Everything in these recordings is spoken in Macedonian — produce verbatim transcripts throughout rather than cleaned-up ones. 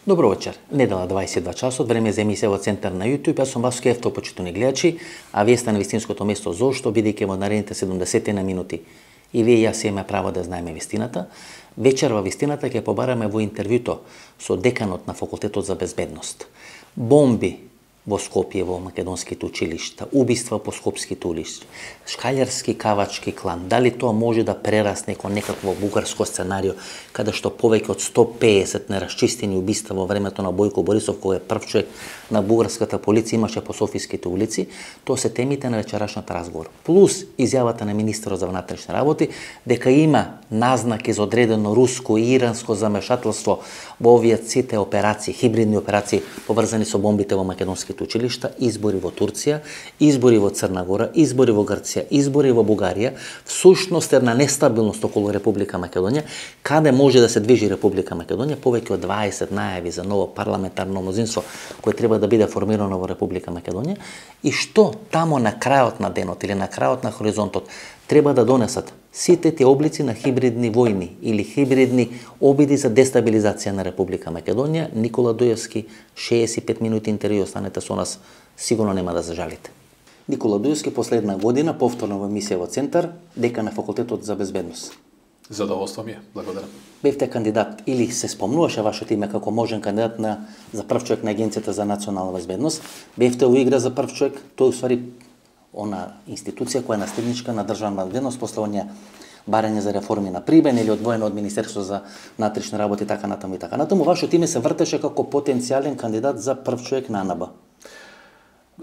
Добро вечер. Недела дваесет и два часот, време за емисија во Центар на YouTube. Јас сум Васко Ефто, почитувани гледачи, а вие сте на вистинското место. Зошто? Бидејќи во наредните седумдесет на минути и вие и јас имаме право да знаеме вистината. Вечер во вистината ќе побараме во интервјуто со деканот на Факултетот за безбедност. Бомби во Скопје, во македонските училишта, убиства по скопските улици, шкалјарски кавачки клан. Дали тоа може да прерасне кон некакво бугарско сценарио, каде што повеќе од сто пеесет нерасчистени убиства во времето на Бојко Борисов, кој е прв човек на бугарската полиција имаше по софиските улици, тоа се темите на вечерашниот разговор. Плюс изјавата на министерот за внатрешни работи дека има назнаки за одредено руско и иранско замешателство во овие сите операции, хибридни операции поврзани со бомбите во македонските училишта, избори во Турција, избори во Црна Гора, избори во Грција, избори во Бугарија, всушност една нестабилност околу Република Македонија, каде може да се движи Република Македонија, повеќе од дваесет најави за ново парламентарно мнозинство кое треба да биде формирано во Република Македонија, и што тамо на крајот на денот или на крајот на хоризонтот треба да донесат сите тие облици на хибридни војни или хибридни обиди за дестабилизација на Република Македонија. Никола Дуевски, шеесет и пет минути интервју, останете со нас, сигурно нема да зажалите. Никола Дуевски, последна година, повторно во емисија во Центар, декан на Факултетот за безбедност. Задоволство ми е, благодарам. Бевте кандидат, или се спомнуваше вашето име како можен кандидат на за прв човек на Агенцијата за национална безбедност. Бевте во игра за прв човек, тој уствари она институција која е наследничка на државна безбедност после оние барање за реформи на Прибен или одвоено од Министерство за внатрешни работи, така натаму и така натаму. Вашето име се вртеше како потенцијален кандидат за прв човек на АНБ.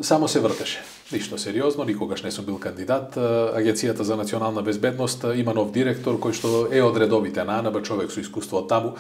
Само се вртеше. Ништо сериозно, никогаш не сум бил кандидат. Агенцијата за национална безбедност има нов директор кој што е од редовите на АНБ, човек со искуство од таму.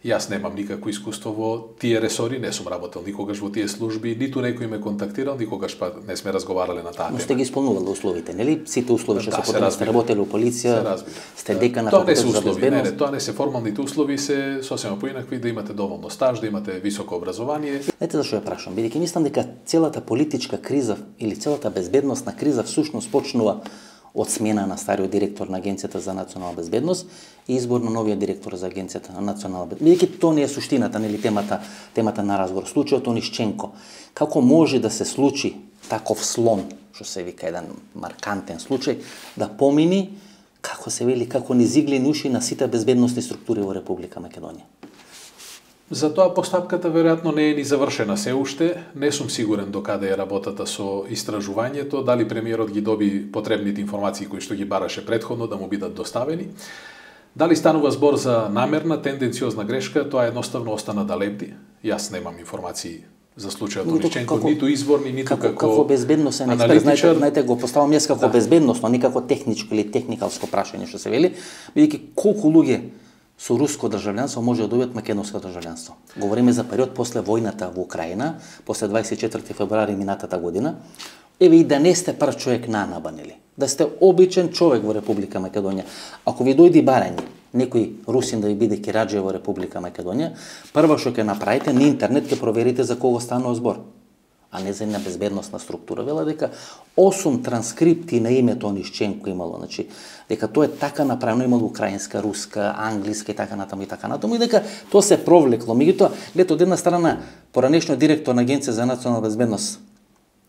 Јас немам никакво искуство во тие ресори, не сум работел никогаш во тие служби, ниту некој ме контактирал, никогаш па не сме разговарале на таа тема. Но сте ги исполнували условите, нели? Сите услови што се потребни, сте работели во полиција, сте декан на Факултетот за безбедност. Не, не, тоа не се формалните услови, се сосема поинакви, да имате доволно стаж, да имате високо образование. Ете зашто ја прашам, бидејќи мислам дека целата политичка криза или целата безбедносна криза всушност почнува од смена на стариот директор на Агенцијата за национална безбедност и избор на новиот директор за Агенцијата на национална безбедност. Бидејќи тоа не е суштината, нели темата, темата на разговор, случајот Онишченко. Како може да се случи таков слом, што се вика еден маркантен случај, да помини, како се вели, како низ иглени уши на сите безбедносни структури во Република Македонија? Затоа постапката веројатно не е ни завршена се уште, не сум сигурен до каде е работата со истражувањето, дали премиерот ги доби потребните информации кои што ги бараше претходно да му бидат доставени. Дали станува збор за намерна, тенденциозна грешка, тоа едноставно остана да лепти. Јас немам информации за случајот Онишченко, ниту изворни, ниту како, како, како безбедносен експерт. Знаете, знаете, го поставам јас како да. безбедносно, не како техничко или техникалско прашање што се вели, бидејќи колку луѓе со руско државјанство може да добијат македонско државјанство. Говориме за период после војната во Украина, после дваесет и четврти февруари минатата година. Еве и да не сте прв човек на АНБ, нели? Да сте обичен човек во Република Македонија. Ако ви дојди барање, некој русин да ви биде кираџија во Република Македонија, прво што ќе направите на интернет ќе проверите за кого станува збор, а не за една безбедносна структура. Вела дека осум транскрипти на името Онишченко имало, значи дека тоа е така направено, имало украинска, руска, англиска и така натаму и така натаму, и дека тоа се провлекло. Меѓутоа, лето од една страна, поранешниот директор на Агенција за национална безбедност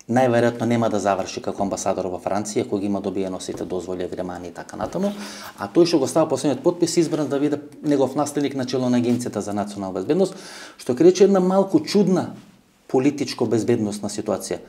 најверојатно нема да заврши како амбасадор во Франција, кој ги има добиено сите дозволи, агремани и така натаму, а тој што го става последниот потпис избран да биде негов наследник на чело на Агенцијата за национална безбедност, што ќе рече една малку чудна политичко-безбедносна ситуација.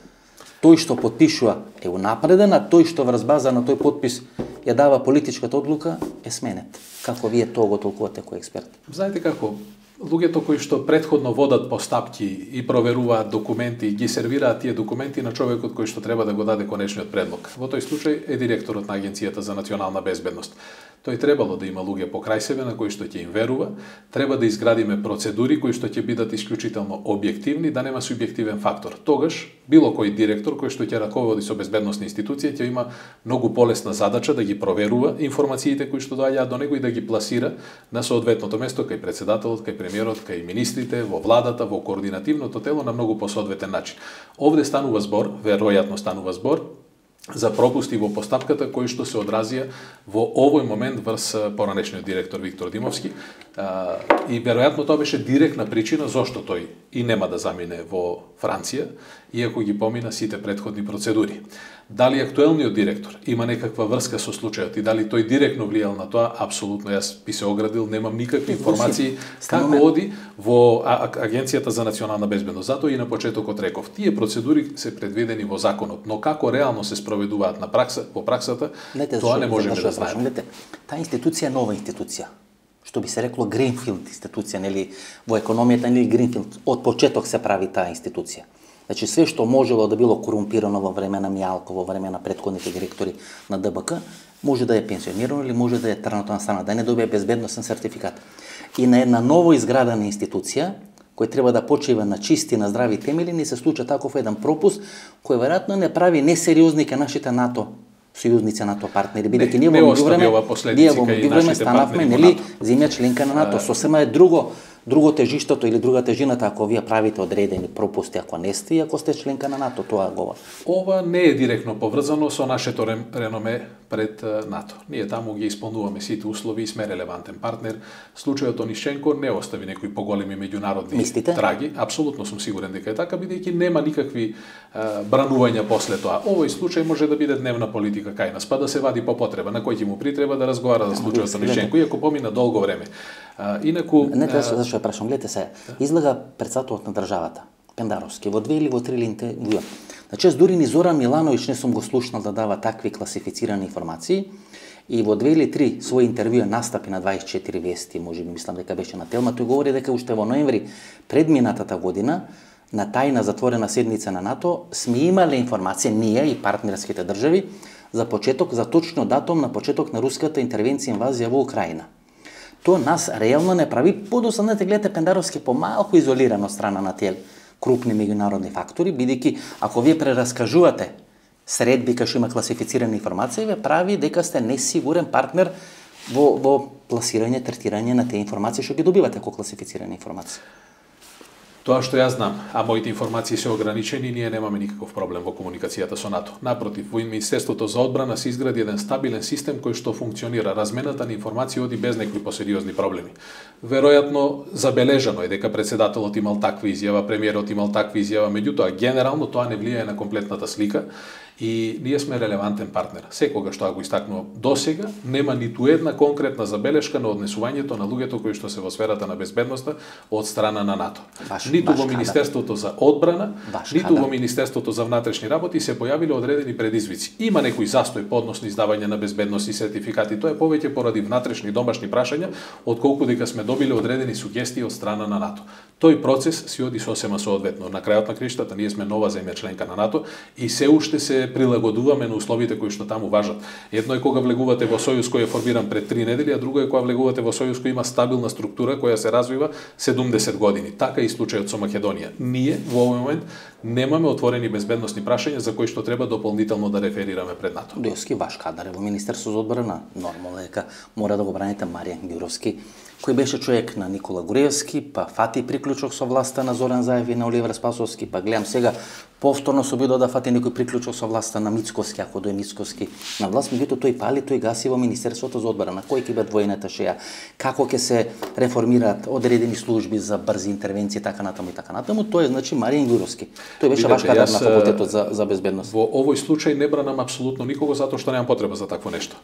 Тој што подпишува е унапреден, а тој што врз база на тој подпис ја дава политичката одлука е сменет. Како вие тоа го толкувате кој експерт? Знаете како, луѓето кои што претходно водат постапки и проверуваат документи, ги сервираат тие документи на човекот кој што треба да го даде конечниот предлог. Во тој случај е директорот на Агенцијата за национална безбедност. Тој требало да има луѓе покрај себе на кои што ќе им верува, треба да изградиме процедури кои што ќе бидат исклучително објективни, да нема субјективен фактор. Тогаш било кој директор кој што ќе раководи со безбедносни институции ќе има многу полесна задача да ги проверува информациите кои што доаѓаат до него и да ги пласира на соодветното место кај председателот, кај премиерот, кај министрите, во владата, во координативното тело на многу посоодветен начин. Овде станува збор, веројатно станува збор за пропусти во постапката кои што се одразија во овој момент врз поранешниот директор Виктор Димовски. и веројатно тоа беше директна причина зошто тој и нема да замине во Франција, иако ги помина сите претходни процедури. Дали актуелниот директор има некаква врска со случајот и дали тој директно влијал на тоа, апсолутно јас би се оградил, немам никакви информации како оди во Агенцијата за национална безбедност. Затоа и на почетокот реков, тие процедури се предвидени во законот, но како реално се спроведуваат на пракса, во праксата, Лете, тоа не зашо, можеме зашо да знаеме. Лете, таа институција е нова институција. Што би се рекло Гринфилд институција, нели, во економијата, нели Гринфилд, од почеток се прави таа институција. Значи, све што можело да било корумпирано во време на Мијалко, во време на претходните директори на Д Б К, може да е пенсионирано или може да е тргнато на страна, да не добие безбедносен сертификат. И на една ново изградена институција, кој треба да почива на чисти, на здрави темели, ни се случа таков еден пропуст, кој веројатно не прави несериозни кај нашите НАТО сојузници, НАТО партнери, бидејќи ние во меѓувреме, ние во меѓувреме станавме, нели, земја членка на НАТО, сосема е друго, друго тежиштото или друга тежината ако вие правите одредени пропусти, ако не сте и ако сте членка на НАТО, тоа говори. Ова не е директно поврзано со нашето реноме пред НАТО. Ние таму ги исполнуваме сите услови и сме релевантен партнер. Случајот Онишченко не остави некои поголеми меѓународни Мислите? траги. Апсолутно сум сигурен дека е така, бидејќи нема никакви а, бранувања после тоа. Овој случај може да биде дневна политика кај нас, па да се вади по потреба, на кој ќе му притреба да разговара за случајот Онишченко, иако помина долго време. А, инаку Не тоа зашто ја прашам, гледате се, излага председателот на државата, Пендаровски, во две или во три интервјуа. Значи, дури ни Зоран Милановиќ не сум го слушнал да дава такви класифицирани информации, и во две или три своји интервјуа настапи на дваесет и четири вести, може би мислам дека беше на Телма, тој говори дека уште во ноември предминатата година на тајна затворена седница на НАТО сме имале информација, ние и партнерските држави, за почеток, за точно датум на почеток на руската интервенција инвазија во Украина. Тоа нас реално не прави подоцна, да гледате Пендаровски помалку изолиран од страна на тие крупни меѓународни фактори, бидејќи ако вие прераскажувате средби кај што има класифицирана информација, ве прави дека сте несигурен партнер во, во пласирање, третирање на тие информации што ги добивате како класифицирани информации. Тоа што јас знам, а моите информации се ограничени, ние немаме никаков проблем во комуникацијата со НАТО. Напротив, во Министерството за одбрана се изгради еден стабилен систем кој што функционира. Размената на информации оди без некои посериозни проблеми. Веројатно забележано е дека председателот имал таква изјава, премиерот имал таква изјава, меѓутоа генерално тоа не влијае на комплетната слика и ние сме релевантен партнер. Секогаш што го истакнувам досега, нема ниту една конкретна забелешка на однесувањето на луѓето кои што се во сферата на безбедноста од страна на НАТО. Баш, ниту баш во Министерството за одбрана, Баш ниту кадар. во Министерството за внатрешни работи се појавиле одредени предизвици. Има некој застој по односно издавање на безбедност и сертификати, тоа е повеќе поради внатрешни домашни прашања, отколку дека сме добиле одредени сугестии од страна на НАТО. Тој процес си оди сосема соодветно. На крајот на криштата ние сме нова земја членка на НАТО и се уште се прилагодуваме на условите кои што таму важат. Едно е кога влегувате во сојуз кој е формиран пред три недели, а друго е кога влегувате во сојуз кој има стабилна структура која се развива седумдесет години. Така и случајот со Македонија. Ние во овој момент немаме отворени безбедносни прашања за кои што треба дополнително да реферираме пред НАТО. Дојски ваш кадар е во Министерство за одбрана. Нормално е дека мора да го браните Маријан Ѓуровски, кој беше човек на Никола Груевски, па фати приклучок со власта на Зоран Заев и на Оливер Спасовски, па гледам сега повторно се обидува да фати некој приклучок со власта на Мицковски, ако дој Мицковски на власт, меѓутоа тој пали, тој гаси во Министерството за одбрана. Кој ќе биде војната шеја? Како ќе се реформираат одредени служби за брзи интервенции, така натаму и така натаму? Тој е значи Маријан Ѓуровски. Тој беше ваш кадар на факултетот за за безбедност. Во овој случај не бранам апсолутно никого затоа што немам потреба за такво нешто.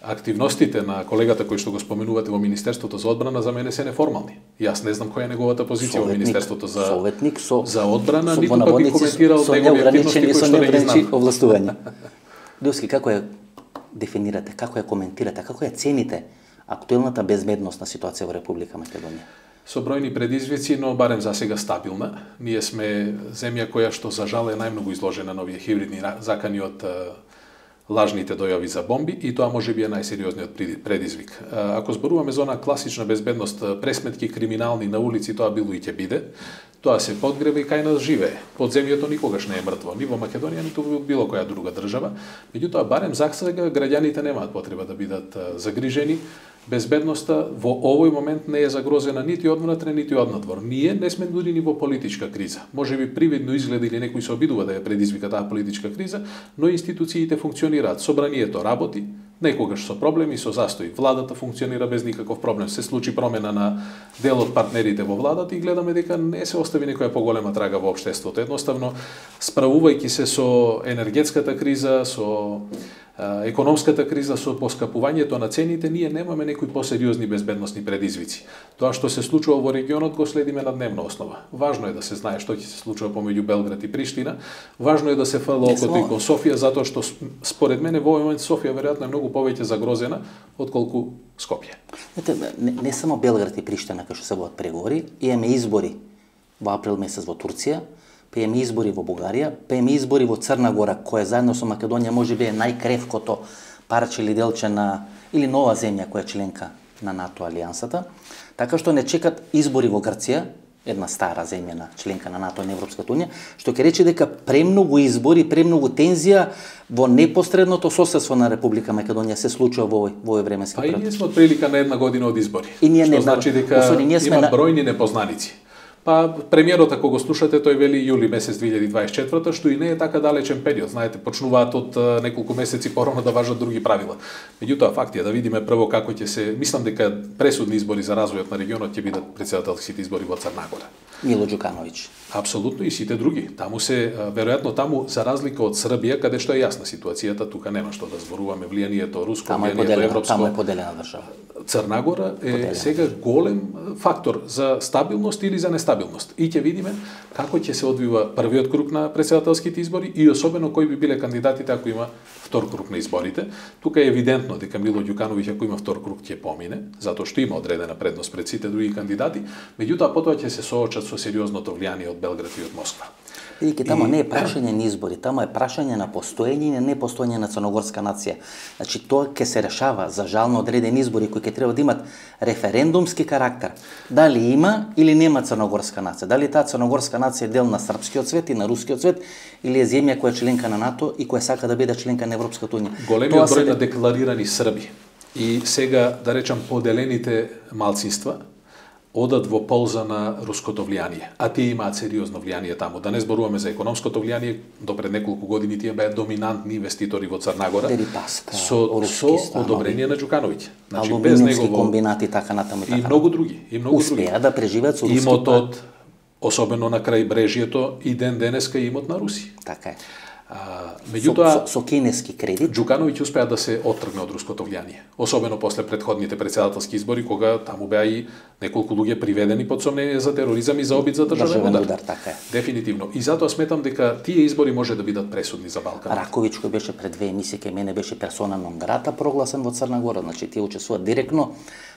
Активностите на колегата кој што го споменувате во Министерството за одбрана за мене се неформални. Јас не знам која е неговата позиција во Министерството за советник со за одбрана, со, ниту пак би коментирал со негови активности кои што не ги знам. Овластување. Ѓуровски, како ја дефинирате, како ја коментирате, како ја цените актуелната безбедносна ситуација во Република Македонија? Со бројни предизвици, но барем за сега стабилна. Ние сме земја која што за жал е најмногу изложена на овие хибридни закани од лажните дојави за бомби и тоа може би е најсериозниот предизвик. Ако зборуваме за она класична безбедност, пресметки криминални на улици, тоа било и ќе биде. Тоа се подгрева и кај нас живее. Подземјето никогаш не е мртво, ни во Македонија, ниту во било која друга држава. Меѓутоа, барем за сега граѓаните немаат потреба да бидат загрижени. Безбедноста во овој момент не е загрозена нити одвнатре, нити однадвор. Ние не сме дури ни во политичка криза. Може би привидно изгледа или некој се обидува да ја предизвика таа политичка криза, но институциите функционираат. Собранието работи, Некогаш со проблеми, со застои. Владата функционира без никаков проблем. Се случи промена на дел од партнерите во владата и гледаме дека не се остави некоја поголема трага во општеството. Едноставно, справувајќи се со енергетската криза, со економската криза, со поскапувањето на цените, ние немаме некои посериозни безбедносни предизвици. Тоа што се случува во регионот го следиме на дневна основа. Важно е да се знае што ќе се случува помеѓу Белград и Приштина. Важно е да се фала окото и кон Софија, затоа што според мене во овој момент Софија веројатно е многу повеќе загрозена отколку Скопје. Не, не само Белград и Приштина кај што се водат преговори, имаме избори во април месец во Турција, па имаме избори во Бугарија, па имаме избори во Црна Гора, која заедно со Македонија можеби е најкревкото парче или делче на или нова земја која е членка на НАТО алијансата. Така што не чекат избори во Грција, една стара земја на членка на НАТО и на Европската унија, што ќе рече дека премногу избори, премногу тензија во непосредното соседство на Република Македонија се случува во овој во овој временски период. период. Па и ние сме од прилика на една година од избори. И ние што не значи дека Особи, ние сме има на... бројни непознаници. Па премиерот, ако го слушате, тој вели јули месец две илјади дваесет и четврта, што и не е така далечен период. Знаете, почнуваат од неколку месеци порано да важат други правила. Меѓутоа, факт е да видиме прво како ќе се... Мислам дека пресудни избори за развојот на регионот ќе бидат претседателските избори во Црна Гора. Мило Ѓукановиќ. Апсолутно и сите други. Таму се, веројатно таму, за разлика од Србија, каде што е јасна ситуацијата, тука нема што да зборуваме влијанието руско, влијанието европско. Таму е поделена држава. Црна Гора е поделена. Сега голем фактор за стабилност или за нестабилност. И ќе видиме како ќе се одвива првиот круг на претседателските избори и особено кои би биле кандидатите ако има втор круг на изборите. Тука е евидентно дека Мило Ѓукановиќ ако има втор круг ќе помине, затоа што има одредена предност пред сите други кандидати, меѓутоа потоа ќе се соочат со сериозното влијание од Белград и од Москва. Бидејќи тамо не е прашање на избори, тамо е прашање на постоење и на непостоење на црногорска нација. Значи тоа ќе се решава за жално одредени избори кои ќе треба да имат референдумски карактер. Дали има или нема црногорска нација? Дали таа црногорска нација е дел на српскиот свет и на рускиот свет или е земја која е членка на НАТО и која сака да биде членка на Европската унија? Големиот број на декларирани срби и сега да речам поделените малцинства одат во полза на руското влијание, а тие имаат сериозно влијание таму. Да не зборуваме за економското влијание, до пред неколку години тие беа доминантни инвеститори во Црна Гора. Дерипаска, со, со одобрение на Ѓукановиќ. Значи без негово комбинати така натаму и така. И многу други, и многу Успеа други. Успеа да преживеат со руски. Имотот, особено на крај брежјето, и ден денеска имот на Руси. Така е. А, меѓутоа, со, со, со кинески кредит, Ѓукановиќ успеа да се оттргне од руското влијание, особено после претходните претседателски избори, кога таму беа и неколку луѓе приведени под сомнение за тероризам и за обид за државен удар. удар. Така е. Дефинитивно. И затоа сметам дека тие избори може да бидат пресудни за Балкан. Раковиќ кој беше пред две емисии кај мене беше персона нон грата прогласен во Црна Гора, значи тие учествуваат директно,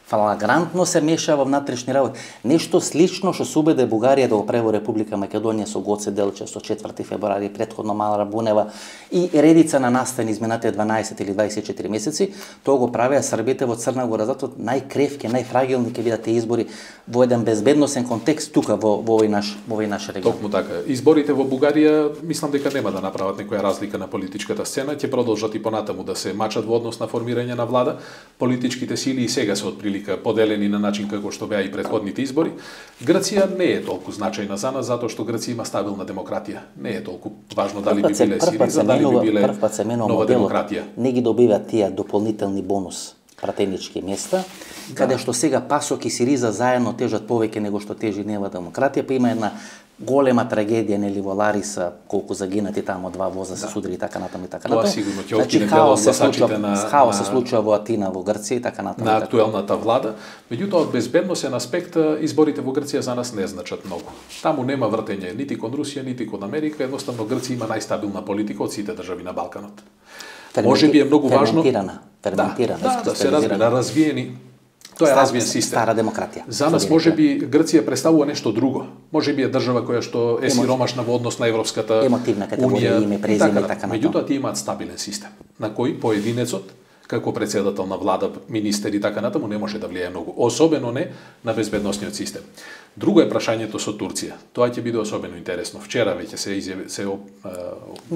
флагрантно се меша во внатрешни работи. Нешто слично што се убеде Бугарија да го прави во Република Македонија со Гоце Делчев со четврти февруари, претходно Мала Бунева и редица на настани изминатите дванаесет или дваесет и четири месеци, тоа го правеа србите во Црна Гора, затоа најкревки, најфрагилни ќе бидат тие избори во еден безбедносен контекст тука во во овој наш во овој наш регион. Токму така. Изборите во Бугарија мислам дека нема да направат некоја разлика на политичката сцена, ќе продолжат и понатаму да се мачат во однос на формирање на влада. Политичките сили и сега се отприлика поделени на начин како што беа и претходните избори. Грција не е толку значајна за нас затоа што Грција има стабилна демократија. Не е толку важно дали би биле Сириза, дали би биле нова демократија. Не ги добиваат тие дополнителни бонус пратенички места, да. Каде што сега ПАСОК и Сириза заедно тежат повеќе него што тежи нова демократија, па има една голема трагедија нели во Лариса, колку загинати таму два воза се да. Судри и така натаму и така натаму. Тоа сигурно ќе откине дел од гласачите на хаос се случува во Атина, во Грција и така натаму. На актуелната влада, меѓутоа од безбедносен аспект изборите во Грција за нас не значат многу. Таму нема вртење нити кон Русија, нити кон Америка, едноставно Грција има најстабилна политика од сите држави на Балканот. Ферменти... Може би е многу важно ферментирана, ферментирана, да, да, да се разбира, развиени. Тоа е развиен систем. Стара демократија. За нас може би Грција представува нешто друго. Може би е држава која што е сиромашна во однос на Европската емотивна категорија, име, презиме и така натаму. Меѓутоа тие имаат стабилен систем на кој поединецот како председател на влада, министер и така натаму не може да влијае многу, особено не на безбедносниот систем. Друго е прашањето со Турција. Тоа ќе биде особено интересно. Вчера веќе се изјави, се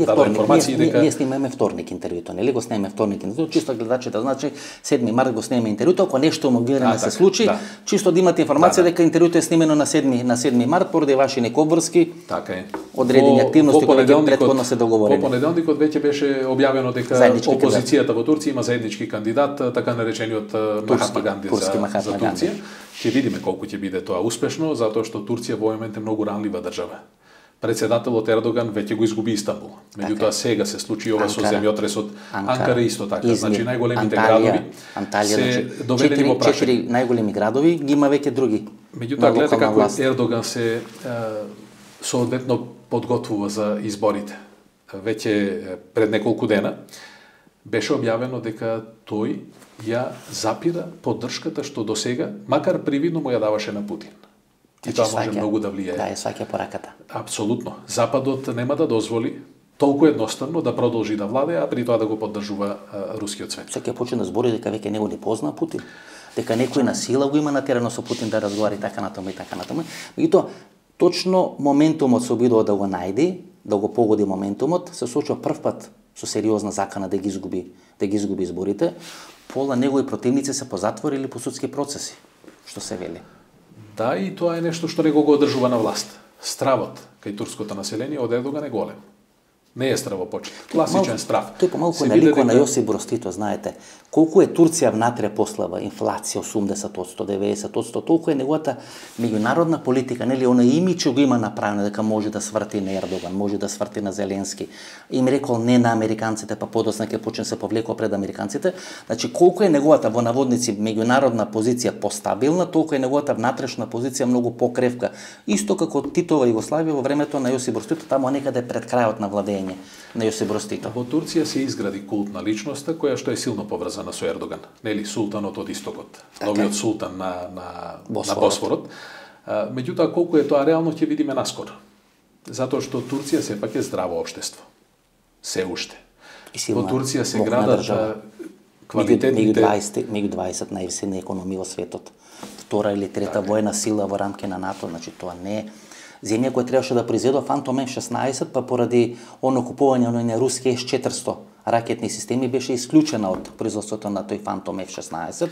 даде информации дека ние снимаме вторник интервјуто, нели го снимаме вторник интервјуто, чисто гледачите значи седми март го снимаме интервјуто, ако нешто му гледаме се случи, да. Чисто да имате информација да, да. дека интервјуто е снимено на седми на седми март поради ваши неки обврски. Така е. Одредени во, активности кои кои претходно се договорени. Во понеделникот веќе беше објавено дека заеднички опозицијата во Турција има заеднички кандидат, така наречениот Махатма Ганди за, за Турција. Ќе видиме колку ќе биде тоа успешно, затоа што Турција во момент е многу ранлива држава. Председателот Ердоган веќе го изгуби Истанбул. Меѓутоа сега се случи ова со земјотресот. Анкара исто така. Измир, значи најголемите Анталија, градови Анталија, се значи, доведени во прашање. Четири најголеми градови ги има веќе други. Меѓутоа гледате како власт. Ердоган се е, соодветно подготвува за изборите. Веќе пред неколку дена беше објавено дека тој ја запира поддршката што досега, макар привидно му ја даваше на Путин. И тоа може многу да влијае. Да, е сваќа пораката. Апсолутно. Западот нема да дозволи толку едноставно да продолжи да владее, а при тоа да го поддржува а, рускиот свет. Сега почне да збори дека веќе него не позна Путин, дека некој на сила го има натерано со Путин да разговари така натаму и така натаму. Меѓутоа, точно моментумот се обидува да го најде, да го погоди моментумот, се случува прв пат со сериозна закана да ги изгуби, да ги изгуби изборите. Пола негови противници се позатворили по судски процеси, што се вели. Да, и тоа е нешто што него го одржува на власт. Стравот кај турското население од Ердоган е голем. Не е стравопочет. Класичен страв. Тој помалку наликува на Јосип Брос Тито, знаете. Колку е Турција внатре послава, инфлација осумдесет одсто, деветдесет одсто, толку е неговата меѓународна политика, нели она имиџ го има направено дека може да сврти на Ердоган, може да сврти на Зеленски. Им рекол не на американците, па подоцна ќе почне се повлекува пред американците. Значи колку е неговата во наводници меѓународна позиција постабилна, толку е неговата внатрешна позиција многу покревка. Исто како Титова Југославија во времето на Јосип Брос Тито, таму некаде пред крајот на владење на Јосип Брос Тито. Во Турција се изгради култ на личноста која што е силно поврзана со Ердоган. Нели султанот од истокот, новиот султан на на Босфорот. на Босфорот. А, меѓутоа колку е тоа реално ќе видиме наскоро. Затоа што Турција сепак е здраво општество. Се уште. Во Турција се градат квалитетните меѓу дваесет најсилни економии во светот. Втора или трета така. војна сила во рамки на НАТО, значи тоа не е земја која требаше да произведува Фантом Еф шеснаесет, па поради оно купување на руски Ес четиристо ракетни системи беше исклучена од производството на тој Фантом Еф шеснаесет.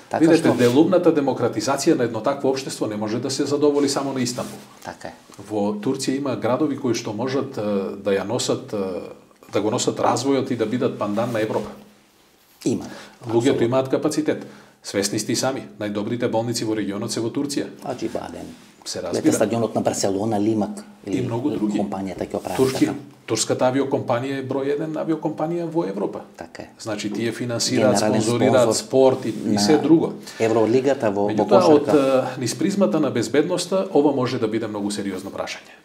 Така Видете, што делумната демократизација на едно такво општество не може да се задоволи само на Истанбул. Така е. Во Турција има градови кои што можат да ја носат, да го носат развојот и да бидат пандан на Европа. Има. Луѓето имаат капацитет. Свесни сте и сами, најдобрите болници во регионот се во Турција. Аџибаден. Се разбира. Стадионот на Барселона, Лимак и многу други. Компанијата ќе оправи Турски, така. турската авиокомпанија е број еден авиокомпанија во Европа. Така е. Значи тие финансираат, спонзорираат спорт и, и се друго. Евролигата во во кошарка. Меѓутоа од низ призмата на безбедноста ова може да биде многу сериозно прашање.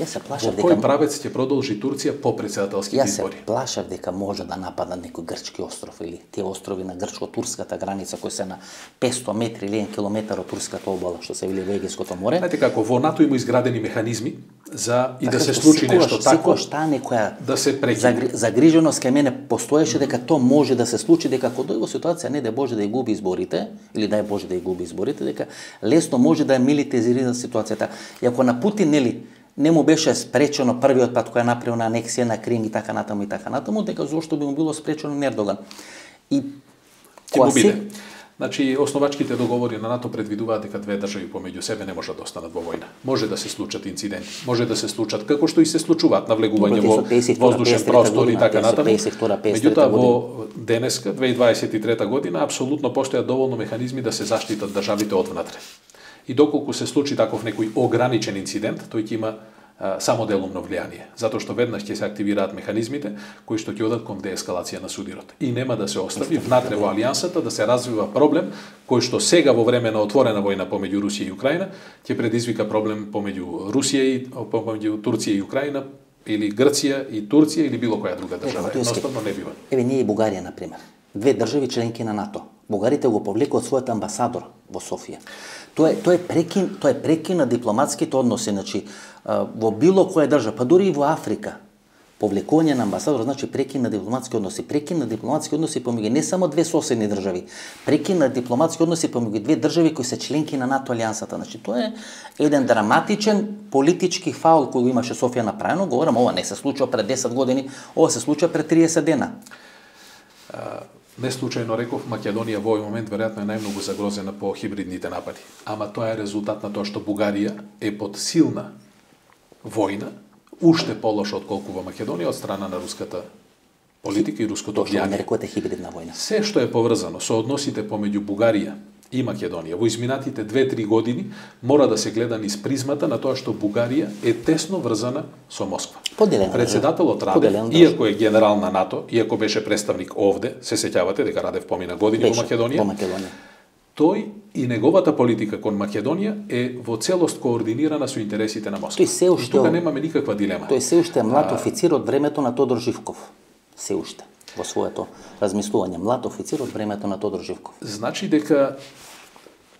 Јас се плашав дека Во кој правец ќе продолжи Турција по претседателските избори? Јас се плашав дека може да напада некој грчки остров или тие острови на грчко-турската граница кои се на петсто метри или еден километар од турската обала, што се вели во Егејското море. Знаете како во НАТО има изградени механизми за и така, да се случи секојаш, нешто такво, секојаш таа некоја да се прекине. Загриженост кај мене постоеше дека тоа може да се случи, дека ако дојде во ситуација не да Боже да ја губи изборите или дај Боже да ја губи изборите, дека лесно може да ја милитаризира ситуацијата. И ако на Путин нели не му беше спречено првиот пат кој направил на анексија на Крим и така натаму и така натаму, дека зошто би му било спречено на Ердоган. И ќе му биде. Значи, основачките договори на НАТО предвидуваат дека две држави помеѓу себе не можат да останат во војна. Може да се случат инциденти, може да се случат како што и се случуваат навлегување во воздушен простор и така натаму. Меѓутоа во денеска две илјади дваесет и трета година апсолутно постојат доволно механизми да се заштитат државите од внатре. И доколку се случи таков некој ограничен инцидент, тој ќе има а, само делумно влијание, затоа што веднаш ќе се активираат механизмите кои што ќе одат кон деескалација на судирот. И нема да се остави внатре во алијансата да се развива проблем кој што сега во време на отворена војна помеѓу Русија и Украина ќе предизвика проблем помеѓу Русија и помеѓу Турција и Украина или Грција и Турција или било која друга држава. Едноставно не бива. Еве ние и Бугарија на пример. Две држави членки на НАТО. Бугарите го повлекоа својот амбасадор во Софија. Тоа е тоа е прекин, тоа е прекин на дипломатските односи, значи во било која држава, па дури и во Африка. Повлекување на амбасадор значи прекин на дипломатски односи, прекин на дипломатски односи помеѓу не само две соседни држави, прекин на дипломатски односи помеѓу две држави кои се членки на НАТО алијансата. Значи тоа е еден драматичен политички фаул кој го имаше Софија направено. Говорам, ова не се случува пред десет години, ова се случува пред триесет дена. А, не случајно реков, Македонија во овој момент веројатно е најмногу загрозена по хибридните напади. Ама тоа е резултат на тоа што Бугарија е под силна војна, уште полошо отколку во Македонија од страна на руската политика и руското влијание. Тоа што нарекувате хибридна војна. Се што е поврзано со односите помеѓу Бугарија и Македонија во изминатите две-три години мора да се гледа низ призмата на тоа што Бугарија е тесно врзана со Москва. Поделена Председателот Радев, иако е генерал на НАТО, иако беше представник овде, се сеќавате дека Радев помина години беше, во Македонија. Во Македонија. Тој и неговата политика кон Македонија е во целост координирана со интересите на Москва. Тој се уште тука немаме никаква дилема. Тој се уште е млад официр од времето на Тодор Живков. Се уште во своето размислување, млад официр од времето на Тодор Живков. Значи дека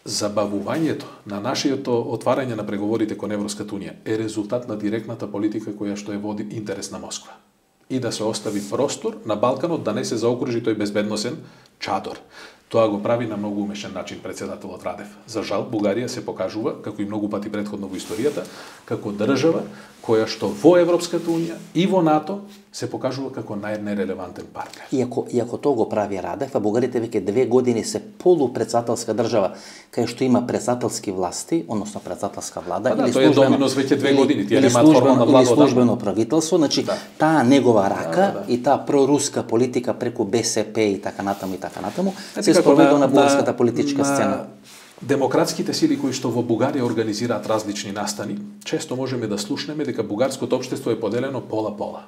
забавувањето на нашето отварање на преговорите кон Европската унија е резултат на директната политика која што е води интерес на Москва. И да се остави простор на Балканот да не се заокружи тој безбедносен чадор. Тоа го прави на многу умешен начин председателот Радев. За жал, Бугарија се покажува, како и многу пати претходно во историјата, како држава која што во Европската унија и во НАТО се покажува како најнерелевантен партнер. Иако, иако тоа го прави Радев, а бугарите веќе две години се полупредседателска држава, кај што има председателски власти, односно председателска влада, да, или тоа е доминос веќе две години, тие немаат формална влада, или службено правителство, значи да. таа негова рака да, да, да. и таа проруска политика преку Бе Се Пе и така натаму и така натаму се спроведува на бугарската политичка на, сцена. Демократските сили кои што во Бугарија организираат различни настани, често можеме да слушнеме дека бугарското општество е поделено пола-пола.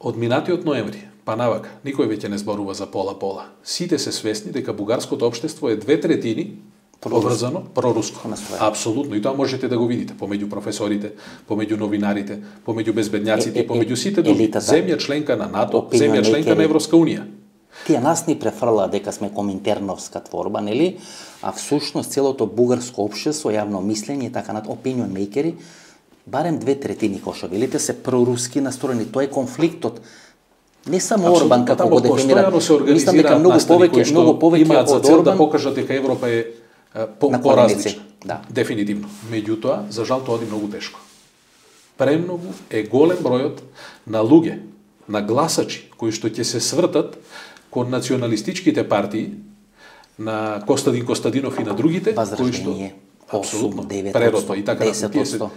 Од минатиот ноември, па навака, никој веќе не зборува за пола-пола. Сите се свесни дека бугарското општество е две третини поврзано проруско. Апсолутно, и тоа можете да го видите помеѓу професорите, помеѓу новинарите, помеѓу безбедњаците, помеѓу сите други. Земја членка на НАТО, земја членка на Европска унија. Тие нас ни префрлаа дека сме коминтерновска творба, нели? А всушност целото бугарско општество, јавно мислење и така над opinion makeri, барем две третини, кој што велите, се проруски настроени. Тоа е конфликтот. Не само Абсолютно, Орбан како го дефинира. Мислам дека многу повеќе, многу повеќе од Орбан да покажат дека Европа е по, поразлична. Да. Дефинитивно. Меѓутоа, за жал тоа оди многу тешко. Премногу е голем бројот на луѓе, на гласачи кои што ќе се свртат кон националистичките партии на Костадин Костадинов и на другите, кои што апсолутно прерото и така десет одсто.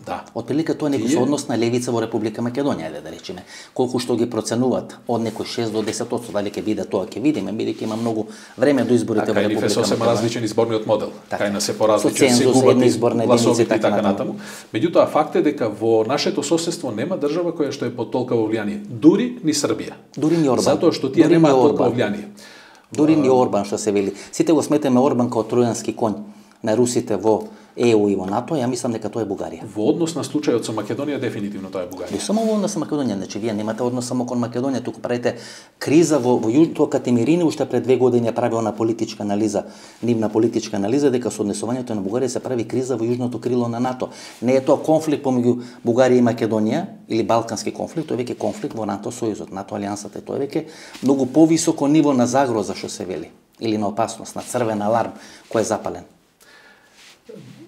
Да. Отприлика тоа некој со однос на левица во Република Македонија, да речеме. Колку што ги проценуваат од некој шест до десет одсто, дали ќе биде тоа, ќе видиме, бидејќи има многу време до изборите во Република Македонија. Така, сосема различен изборниот модел. Кај нас се поразличен, се губат гласовите и така натаму. Меѓутоа, факт е дека во нашето соседство нема држава која што е под толкова влијание. Дури ни Србија. Дури ни Орбан. Затоа што тие немаат толкова влијание. Дури ни Орбан, што се вели. Сите го сметаме Орбан како тројански конј на русите во Е У и во НАТО, ја мислам дека тоа е Бугарија. Во однос на случајот со Македонија, дефинитивно тоа е Бугарија. Не само во однос со Македонија, значи вие немате однос само кон Македонија, туку правите криза во, во Јужното Катемирини, уште пред две години ја прави она политичка анализа, нивна политичка анализа, дека со однесувањето на Бугарија се прави криза во Јужното крило на НАТО. Не е тоа конфликт помеѓу Бугарија и Македонија, или балкански конфликт, тоа е веќе конфликт во НАТО сојузот, НАТО алијансата, тоа е веќе многу повисоко ниво на загроза, што се вели, или на опасност, на црвен аларм кој е запален.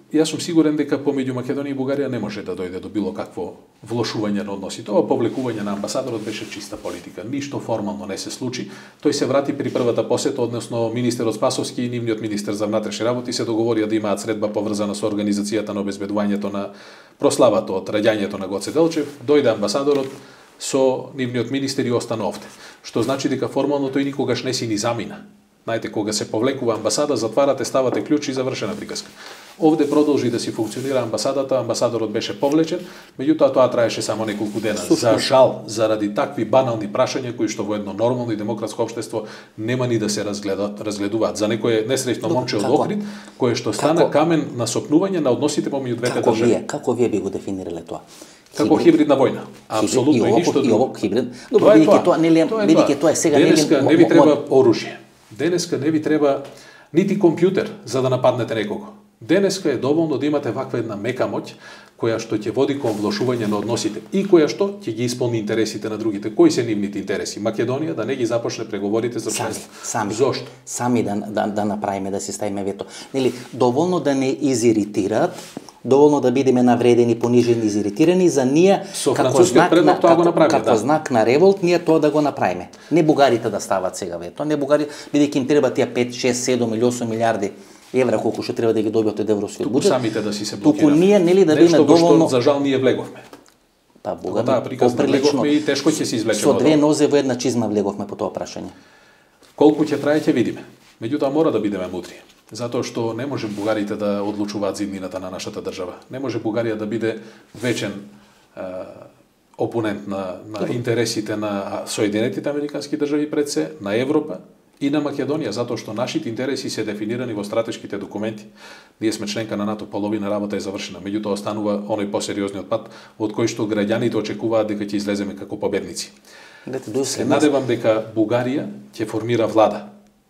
Јас сум сигурен дека помеѓу Македонија и Бугарија не може да дојде до било какво влошување на односите. Ова повлекување на амбасадорот беше чиста политика. Ништо формално не се случи. Тој се врати при првата посета, односно министерот Спасовски и нивниот министер за внатрешни работи се договорија да имаат средба поврзана со организацијата на обезбедувањето на прославата од раѓањето на Гоце Делчев. Дојде амбасадорот со нивниот министер и остана овде. Што значи дека формално тој никогаш не си ни замина. Знаете, кога се повлекува амбасада, затварате, ставате клjuč и завршена приказка. Овде продолжи да си функционира амбасадата, амбасадорот беше повлечен, меѓутоа тоа траеше само неколку дена. За жал, заради такви банални прашања кои што во едно нормално и демократско општество нема ни да се разгледат, разгледуваат. За некое несреќно момче од Охрид, кое што стана како? Камен на сопнување на односите помеѓу двете како држави. Вие, како вие би го дефинирале тоа? Како хибридна војна. Апсолутно и ништо друго. И ово хибрид. Добро, бидејќи тоа нели бидејќи тоа е сега нели денеска не ви треба оружје. Денеска не ви треба нити компјутер за да нападнете некого. Денеска е доволно да имате ваква една мека моќ која што ќе води кон влошување на односите и која што ќе ги исполни интересите на другите. Кои се нивните интереси? Македонија да не ги започне преговорите за членство. Сами, Зошто? Сами да, да, да направиме, да си ставиме вето. Нели, доволно да не изиритираат, доволно да бидеме навредени, понижени, изиритирани, за ние Со како знак, предлог на, тоа го како, направи, како да. знак на револт, ние тоа да го направиме. Не бугарите да стават сега вето, не бугари, бидејќи им треба тие пет, шест, седум или осум милиарди евра колку што треба да ги добиат од европскиот Туку буџет. самите да си се Туку блокираме. ние нели да бидеме Нешто во доволно што за жал ние влеговме. Па буга, Да, приказно поприлично. влеговме и тешко ќе се извлечеме. Со од две ова. нозе во една чизма влеговме по тоа прашање. Колку ќе трае ќе видиме. Меѓутоа мора да бидеме мудри. Затоа што не може бугарите да одлучуваат зиднината на нашата држава. Не може Бугарија да биде вечен е, опонент на, на интересите на Соединетите американски држави пред се, на Европа и на Македонија, затоа што нашите интереси се дефинирани во стратешките документи. Ние сме членка на НАТО, половина работа е завршена, меѓутоа останува оној посериозниот пат од кој што граѓаните очекуваат дека ќе излеземе како победници. Се надевам дека Бугарија ќе формира влада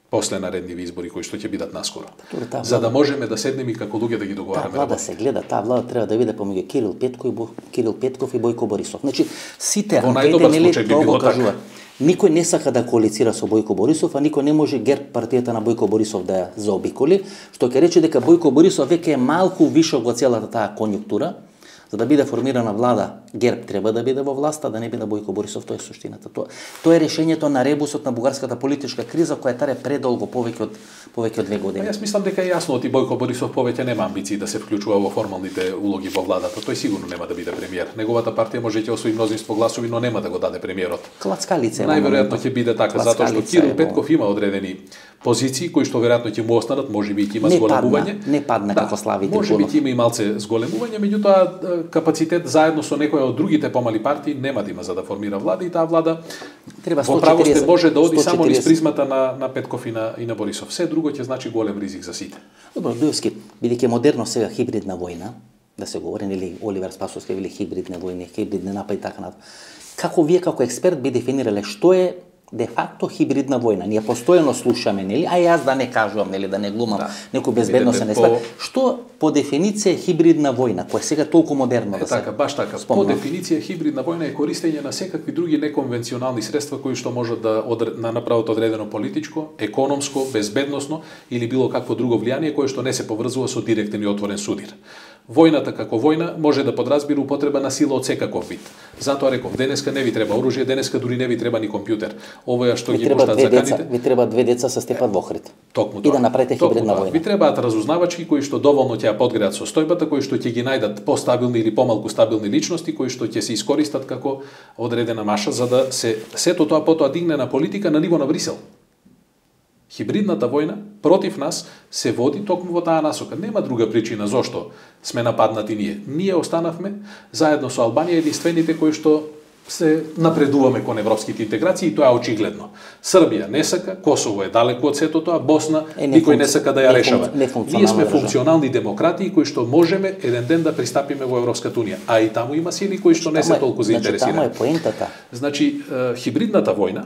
после наредниви избори кои што ќе бидат наскоро. Таа За да можеме да седнеме и како луѓе да ги Таа договараме влада работи. се гледа, таа влада треба да биде помеѓу Кирил Петков и Бо, Кирил Петков и Бојко Борисов. Значи сите Во анкети најдобар нели случај би тоа било го така. кажува. Никој не сака да коалицира со Бојко Борисов, а никој не може ГЕРБ партијата на Бојко Борисов да ја заобиколи, што ќе рече дека Бојко Борисов веќе е малку вишок во целата таа конјунктура. За да биде формирана влада, ГЕРБ треба да биде во власта, да не биде Бојко Борисов, тоа е суштината. Тоа, тоа е решењето на ребусот на бугарската политичка криза која таре предолго, повеќе од повеќе од две години. Па јас мислам дека е јасно оти Бојко Борисов повеќе нема амбиции да се вклучува во формалните улоги во владата. Тој сигурно нема да биде премиер. Неговата партија може ќе освои мнозинство гласови, но нема да го даде премиерот. Клацкалица е. Најверојатно ќе биде така, затоа што Кирил Петков има одредени позиции кои што веројатно ќе му останат, можеби ќе има Не зголемување. падна, не падна како Слави Можеби Трифунов. ќе има и малце зголемување, меѓутоа капацитет заедно со некоја од другите помали партии нема да има за да формира влада и таа влада Треба во право сте може да оди сто само низ четириесет. призмата на на Петков и на и на Борисов. Се друго ќе значи голем ризик за сите. Добро, Дуевски, бидејќи е модерно сега хибридна војна, да се говори, нели Оливер Спасовски вели хибридни војни, хибридни напади така натаму. Како вие како експерт би дефинирале што е де факто хибридна војна? Ние постојано слушаме, нели, а јас да не кажувам, нели, да не глумам Да. некој безбедносен Видете, експерт. по- Што по дефиниција е хибридна војна, која сега толку модерно Е, да се така, баш така. По спомнува? дефиниција хибридна војна е користење на секакви други неконвенционални средства кои што можат да одр... на направат одредено политичко, економско, безбедносно или било какво друго влијание кое што не се поврзува со директен и отворен судир. Војната како војна може да подразбира употреба на сила од секаков вид. Затоа реков, денеска не ви треба оружје, денеска дури не ви треба ни компјутер. Овоја што Ви ги треба пуштаат две деца, заканите. ви треба две деца со Степан Вохрид. Токму И тоа. да направите Токму хибридна тоа. војна. Ви требаат разузнавачки кои што доволно ќе ја подгреат состојбата, кои што ќе ги најдат постабилни или помалку стабилни личности, кои што ќе се искористат како одредена маша за да се сето тоа потоа дигне на политика на ниво на Брисел. Хибридната војна против нас се води токму во таа насока. Нема друга причина зошто сме нападнати ние. Ние останавме заедно со Албанија единствените кои што се напредуваме кон европските интеграции и тоа е очигледно. Србија не сака, Косово е далеку од сето тоа, Босна Е, не никој не функци- сака да ја не решава. функци- не функционална Ние сме држава. функционални демократи кои што можеме еден ден да пристапиме во Европската унија, а и таму има сили кои што не се Тамо е- толку Значи, тамо заинтересирани. е поентата. Значи, е, хибридната војна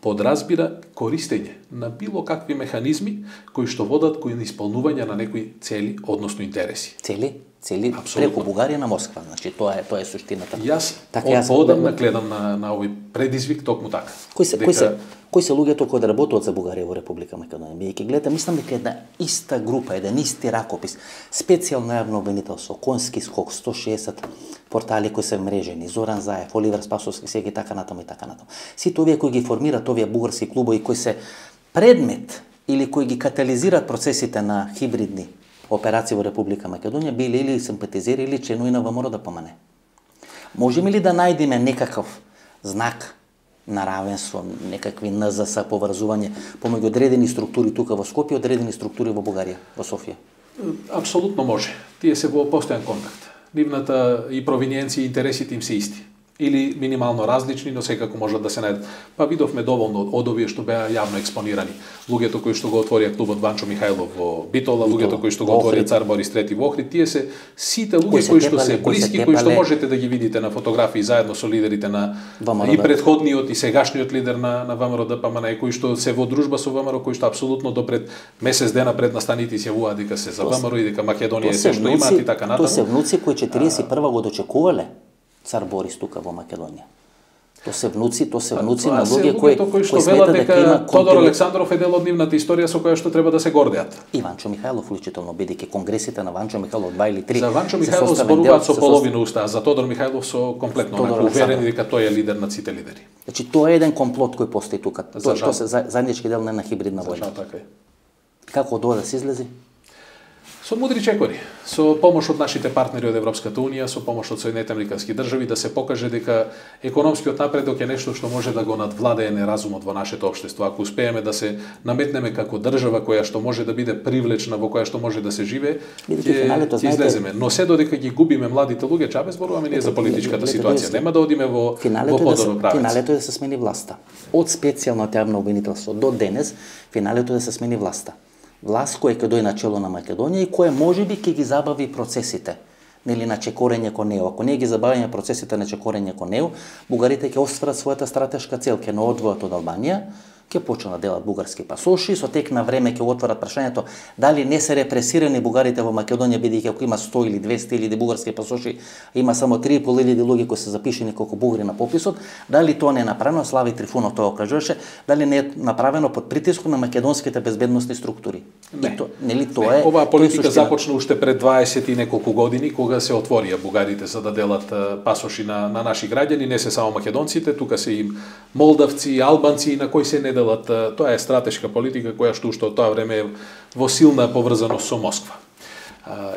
подразбира користење на било какви механизми кои што водат кон исполнување на некои цели, односно интереси. Цели, цели Апсолутно. преку Бугарија на Москва. Значи тоа е тоа е суштината. Јас Така, од јас- поодамна гледам на на овој предизвик токму така. Кои се, Дека кои се, кои се луѓето кои да работат за Бугарија во Република Македонија? Бидејќи гледате, мислам дека една иста група, еден исти ракопис, специјално јавно обвинителство, Конски скок, сто шеесет портали кои се мрежени, Зоран Заев, Оливер Спасовски, сега и така натаму и така натаму. Сите овие кои ги формираат овие бугарски клубови кои се предмет или кои ги катализираат процесите на хибридни операции во Република Македонија, биле или симпатизери или членови на ВМРО да помане. Можеме ли да најдеме некаков знак на равенство, некакви ен зес поврзување помеѓу одредени структури тука во Скопје и одредени структури во Бугарија, во Софија? апсолутно може. Тие се во постојан контакт. Нивната и провиниенција и интересите им се исти. или минимално различни, но секако можат да се најдат. Па видовме доволно од овие што беа јавно експонирани. Луѓето кои што го отворија клубот Ванчо Михајлов во Битола, луѓето кои што го отворија Цар Борис трети во Охрид, тие се сите луѓе кои што се блиски, кои што можете да ги видите на фотографии заедно со лидерите на и претходниот и сегашниот лидер на на ВМРО Д П М Н, кои што се во дружба со ВМРО, кои што апсолутно до пред месец дена пред настаните изјавуваат дека се за ВМРО и дека Македонија е се што имаат и така натаму. Тоа се внуци кои четириесет и прва го дочекувале Цар Борис тука во Македонија. То се внуци, то се внуци на луѓе кои кои што велат дека Тодор Александров е дел од нивната историја со која што треба да се гордеат. И Ванчо Михајлов вклучително, бидејќи конгресите на Ванчо Михајлов два или три. За Ванчо Михајлов зборуваат со половина уста, а за Тодор Михајлов со комплетно уверени дека тој е лидер на сите лидери. Значи тоа е еден комплот кој постои тука. Тоа тоа се заеднички дел на една хибридна војна. Така е. Како од ова да се излези? Со мудри чекори, со помош од нашите партнери од Европската Унија, со помош од Соединетите Американски држави, да се покаже дека економскиот напредок е нешто што може да го надвладее неразумот во нашето општество. Ако успееме да се наметнеме како држава која што може да биде привлечна, во која што може да се живее, ќе излеземе. Но се додека ги губиме младите луѓе, чабе зборуваме ние за политичката ситуација. Нема да одиме во во подобро правец. Финалето е да се смени власта. Од специјално јавно обвинителство до денес, финалето е да се смени власта. Власт која ќе дојде на чело на Македонија и која можеби ќе ги забави процесите, нели на чекорење кон нео. Ако не ги забавиме процесите на чекорење кон нео, бугарите ќе остварат својата стратешка цел, ќе не одвојат од Албанија, ќе почнат да делат бугарски пасоши, со тек на време ќе отворат прашањето дали не се репресирани бугарите во Македонија, бидејќи ако има сто или двесте илјади бугарски пасоши, има само три и пол илјади луѓе кои се запишани како бугари на пописот, дали тоа не е направено, Слави Трифунов тоа кажуваше, дали не е направено под притисок на македонските безбедносни структури. Не, то, нели тоа е. Оваа политика започна уште пред дваесет и неколку години кога се отворија бугарите за да делат пасоши на на наши граѓани, не се само македонците, тука се и молдавци, албанци на кои се не делат. Тоа е стратешка политика која што уште од тоа време е во силна поврзаност со Москва.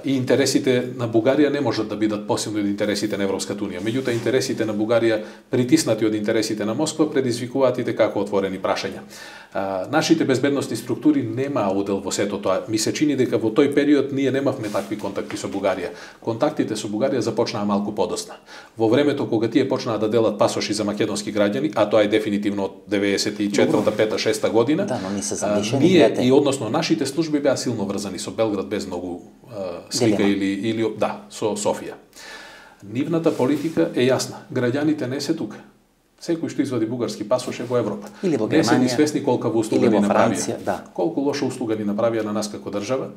И интересите на Бугарија не можат да бидат посилни од интересите на Европската Унија. Меѓутоа, интересите на Бугарија, притиснати од интересите на Москва, предизвикуваат и како отворени прашања. Нашите безбедносни структури немаа удел во сето тоа. Ми се чини дека во тој период ние немавме такви контакти со Бугарија. Контактите со Бугарија започнаа малку подоцна. Во времето кога тие почнаа да делат пасоши за македонски граѓани, а тоа е дефинитивно од деветдесет и четврта, пета, шеста година, да, но не се замешани, ние и односно нашите служби беа силно врзани со Белград без многу слика или, или да, со Софија. Нивната политика е јасна. Граѓаните не се тука. Секој што извади бугарски пасош е во Европа. Или во Германија, не се ни свесни колка услуга ни направија. Да. Колку лоша услуга ни направија на нас како држава.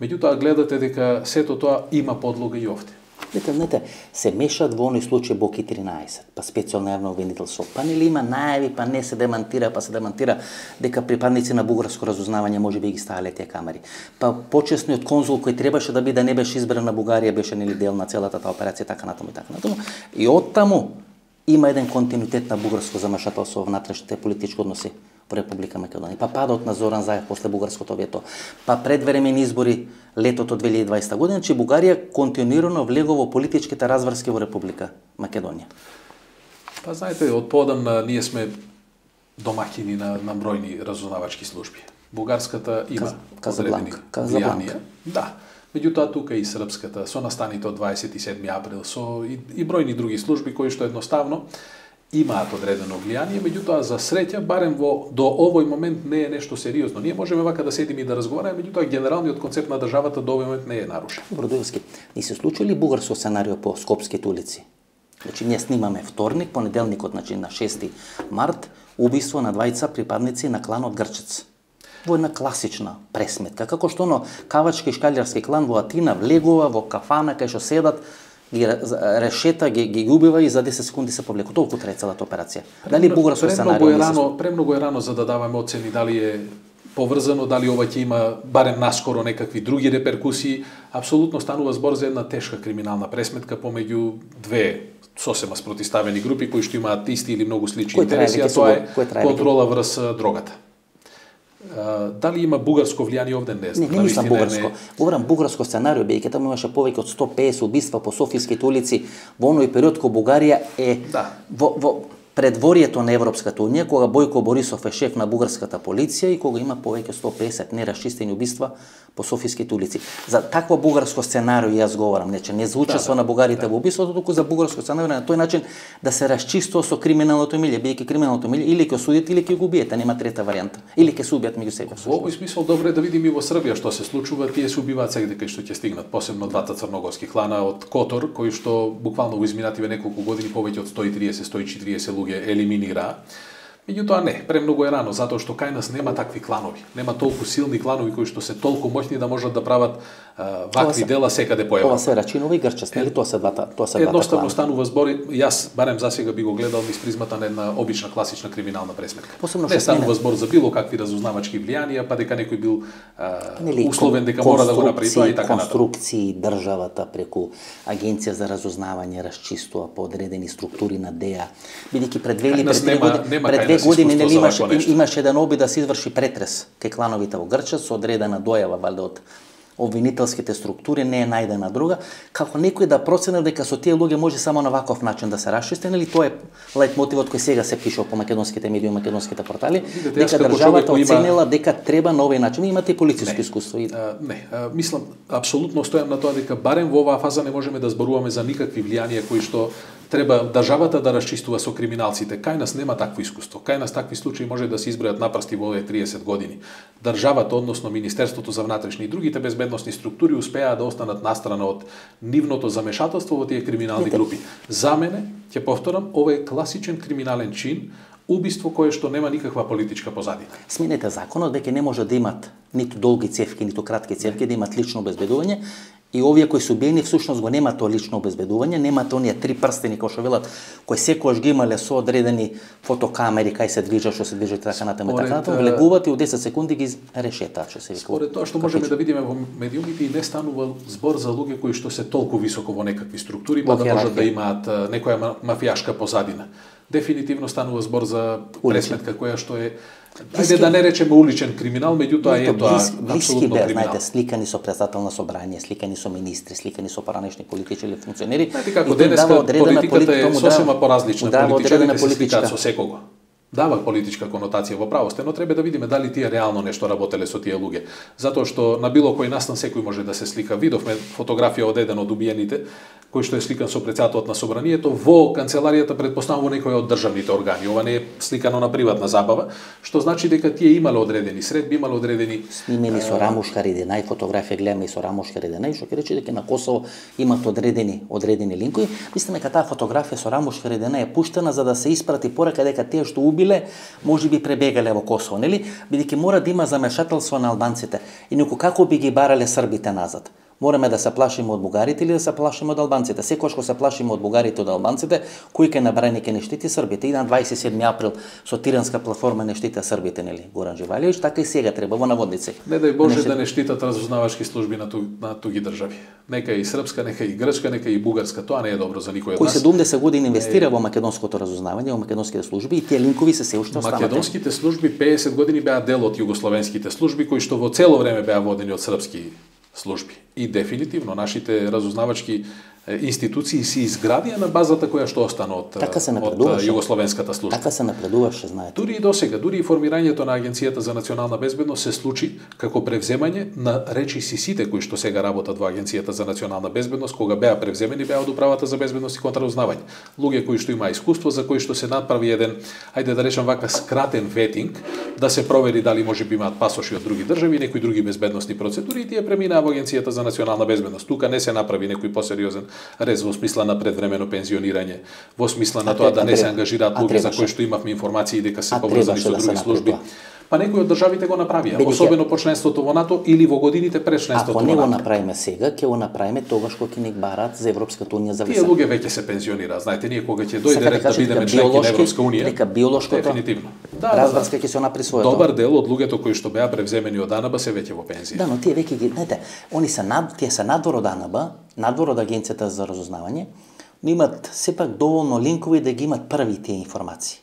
Меѓутоа гледате дека сето тоа има подлога и овде. Знаете, знаете, се мешат во оној случај Боки тринаесет, па специјално јавно обвинителство. Па нели има најави, па не се демантира, па се демантира дека припадници на бугарско разузнавање може би ги ставале тие камери. Па почесниот конзул кој требаше да биде не беше избран на Бугарија, беше нели дел на целата таа операција, така натаму и така натаму. И оттаму има еден континуитет на бугарско замешателство во внатрешните политички односи во Република Македонија. Па падот на Зоран Заев после бугарското вето, па предвремени избори летото две илјади и дваесета година, че Бугарија континуирано влегува во политичките разврски во Република Македонија. Па знаете, од поодамна ние сме домаќини на, на бројни разузнавачки служби. Бугарската има одредени влијанија. Да. Меѓутоа тука и српската, со настаните од дваесет и седми април, со и, и бројни други служби кои што едноставно имаат одредено влијание, меѓутоа за среќа барем во до овој момент не е нешто сериозно. Ние можеме вака да седиме и да разговараме, меѓутоа генералниот концепт на државата до овој момент не е нарушен. Бродовски, ни се случи ли бугарско сценарио по скопските улици? Значи ние снимаме вторник, понеделникот, значи на шести март, убиство на двајца припадници на кланот Грчец. Во една класична пресметка, како што оно кавачки и шкалјарски клан во Атина влегува во кафана кај што седат, ги решета, ги, ги убива и за десет секунди се повлеку. Толку трае целата операција. Дали бугарско сценарио е рано, премногу е рано за да даваме оцени дали е поврзано, дали ова ќе има барем наскоро некакви други реперкусии. Апсолутно станува збор за една тешка криминална пресметка помеѓу две сосема спротиставени групи кои што имаат исти или многу слични интереси, а тоа е контрола врз дрогата. Uh, дали има бугарско влијание овде, не знам. Не, не мислам бугарско. Говорам бугарско сценарио, бидејќи таму имаше повеќе од сто песет убиства по софиските улици во оној период кога Бугарија е да. во, во предворието на Европската унија, кога Бојко Борисов е шеф на бугарската полиција и кога има повеќе сто и песет нерасчистени убиства по софиските улици. За такво бугарско сценарио јас говорам, не че не за учество да, на бугарите да. во убиството, туку за бугарско сценарио на тој начин да се расчистува со криминалното милје, бидејќи криминалното милје или ќе осудите или ќе го убиете, нема трета варијанта. Или ќе се убијат меѓу себе. Во овој смисол добро е да видиме и во Србија што се случува, тие се убиваат сегде кај што ќе стигнат, посебно двата црногорски клана од Котор, кои што буквално во изминативе неколку години повеќе од сто и триесет до сто и четириесет луѓе елиминираа. Меѓутоа не, премногу е рано, затоа што кај нас нема такви кланови. Нема толку силни кланови кои што се толку моќни да можат да прават а, вакви се, дела секаде по Европа. Ова се Рачинова и Грчес, нели тоа се двата, тоа се двата клана. Едноставно станува збор, јас барем засега би го гледал низ призмата на една обична класична криминална пресметка. Посебно не станува смене. збор за било какви разузнавачки влијанија, па дека некој бил а, Нели, условен дека мора да го направи тоа и така натаму. Конструкции државата преку Агенција за разузнавање расчистува по одредени структури на ДЕА, бидејќи пред две или пред три години, пред две години нели имаше имаше еден обид да се изврши претрес кај клановите во Грча со одредена дојава валјда од обвинителските структури, не е најдена друга, како некој да процени дека со тие луѓе може само на ваков начин да се расчисти, нели тоа е лајт мотивот кој сега се пише по македонските медии, македонските портали, Видете, дека државата оценила има... дека треба на овој начин. Имате и полициско искуство. И... А, не, а, мислам, апсолутно стојам на тоа дека барем во оваа фаза не можеме да зборуваме за никакви влијанија кои што треба државата да расчистува со криминалците. Кај нас нема такво искуство. Кај нас такви случаи може да се избројат на прсти во овие триесет години. Државата, односно Министерството за внатрешни и другите безбедносни структури успеа да останат настрана од нивното замешателство во тие криминални групи. За мене, ќе повторам, ова е класичен криминален чин, убиство кое што нема никаква политичка позадина. Сменете законот дека не може да имат ниту долги цевки, ниту кратки цевки, да имат лично обезбедување. И овие кои се убиени всушност го нема тоа лично обезбедување, немат оние три прстени кои што велат, кои секогаш ги имале со одредени фотокамери кај се движат, што се движат така натаму и така натаму, влегуваат и од десет секунди ги решетаат, што се вика. Според тоа што можеме да видиме во медиумите и не станува збор за луѓе кои што се толку високо во некакви структури, па да можат да имаат некоја мафијашка позадина. Дефинитивно станува збор за пресметка која што е ајде да не речеме уличен криминал, меѓутоа е тоа апсолутно криминал. Знаете, сликани со председател на собрание, сликани со министри, сликани со поранешни политичари или функционери. Знаете како денеска политиката е сосема поразлична, политичарите се сликаат со секого. Дава политичка конотација во правосте, но треба да видиме дали тие реално нешто работеле со тие луѓе. Затоа што на било кој настан секој може да се слика. Видовме фотографија од еден од убиените, кој што е сликан со председателот на собранието во канцеларијата, предпоставува некој од државните органи. Ова не е сликано на приватна забава, што значи дека тие имале одредени средби, имале одредени снимени со Рамуш Харидинај, фотографија гледаме и со Рамуш Харидинај, што ќе рече дека на Косово имат одредени одредени линкови. Мислиме дека таа фотографија со Рамуш Харидинај е пуштена за да се испрати порака дека тие што убиле може би пребегале во Косово, нели? Бидејќи мора да има замешателство на албанците. И никако како би ги барале србите назад. Мораме да се плашиме од бугарите или да се плашиме од албанците. Секогаш кога се плашиме од бугарите од албанците, кој ќе набрани ке не штити србите. И на дваесет и седми април со Тиранска платформа не штита србите, нели? Горан Живалиевич, така и сега треба во наводници. Не дај Боже не да не штитат разузнавачки служби на, ту, на туги држави. Нека и српска, нека и грчка, нека и бугарска, тоа не е добро за никој од нас. Кој седумдесет години инвестира во македонското разузнавање, во македонските служби и тие линкови се се уште останати. Македонските служби пеесет години беа дел од југословенските служби кои што во цело време беа водени од српски служби. И дефинитивно нашите разузнавачки институции се изградија на базата која што остана од, така од југословенската служба. Така се напредуваше, знаете. Дури и досега, дури и формирањето на Агенцијата за национална безбедност се случи како превземање на речиси сите кои што сега работат во Агенцијата за национална безбедност, кога беа превземени беа од управата за безбедност и контраузнавање. Луѓе кои што има искуство, за кои што се направи еден, ајде да речам вака, скратен ветинг, да се провери дали можеби имаат пасоши од други држави, некои други безбедносни процедури и тие преминаа во Агенцијата за национална безбедност. Тука не се направи некој посериозен рез во смисла на предвремено пензионирање, во смисла на тоа да не се ангажираат луѓе за кои што имавме информации дека се поврзани со други служби. Па некои од државите го направија, особено по членството во НАТО или во годините пред членството во НАТО. Ако не го направиме сега, ќе го направиме тогаш кога ќе ни барат за Европската унија за виса. Тие луѓе веќе се пензионираат, знаете, ние кога ќе дојде ред да бидеме членки на Европска унија, дека биолошкото дефинитивно. Да, разврска ќе се направи своето. Добар дел од луѓето кои што беа превземени од АНБ се веќе во пензија. Да, но тие веќе ги, знаете, они се над, тие се надвор од АНБ, надвор од Агенцијата за разузнавање, но имат сепак доволно линкови да ги имат први тие информации.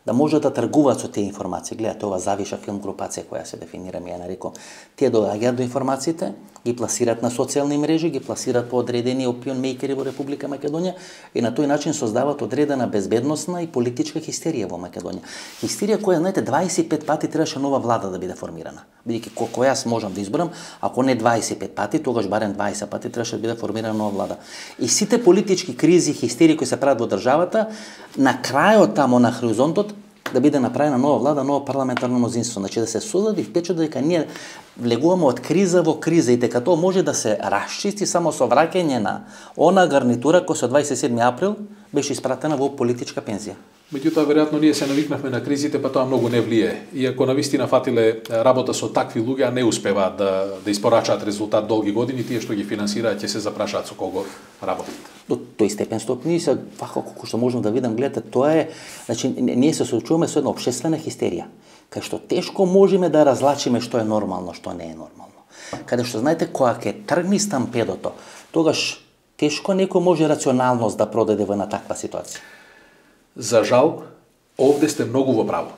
да можат да тргуваат со тие информации. Гледате, ова завиша филм групација која се дефинира, ми ја нарекол. Тие доаѓаат до информациите, ги пласираат на социјални мрежи, ги пласираат по одредени опион мејкери во Република Македонија и на тој начин создаваат одредена безбедносна и политичка хистерија во Македонија. Хистерија која, знаете, дваесет и пет пати требаше нова влада да биде формирана. Бидејќи колку јас можам да изборам, ако не дваесет и пет пати, тогаш барем дваесет пати требаше да биде формирана нова влада. И сите политички кризи, хистерии кои се прават во државата, на крајот тамо на хоризонтот да биде направена нова влада, ново парламентарно мнозинство. Значи да се создаде впечат дека ние влегуваме од криза во криза и дека тоа може да се расчисти само со враќање на она гарнитура која со дваесет и седми април беше испратена во политичка пензија. Меѓутоа, веројатно ние се навикнавме на кризите, па тоа многу не влие. Иако навистина фатиле работа со такви луѓе, а не успеваат да, да испорачаат резултат долги години, тие што ги финансираат ќе се запрашаат со кого работат. До тој степен стопни се вака колку што можам да видам, гледате, тоа е, значи ние се соочуваме со една општествена хистерија, кај што тешко можеме да разлачиме што е нормално, што не е нормално. Каде што знаете кога ќе тргни стампедото, тогаш тешко некој може рационалност да продаде во една таква ситуација. За жал, овде сте многу во право.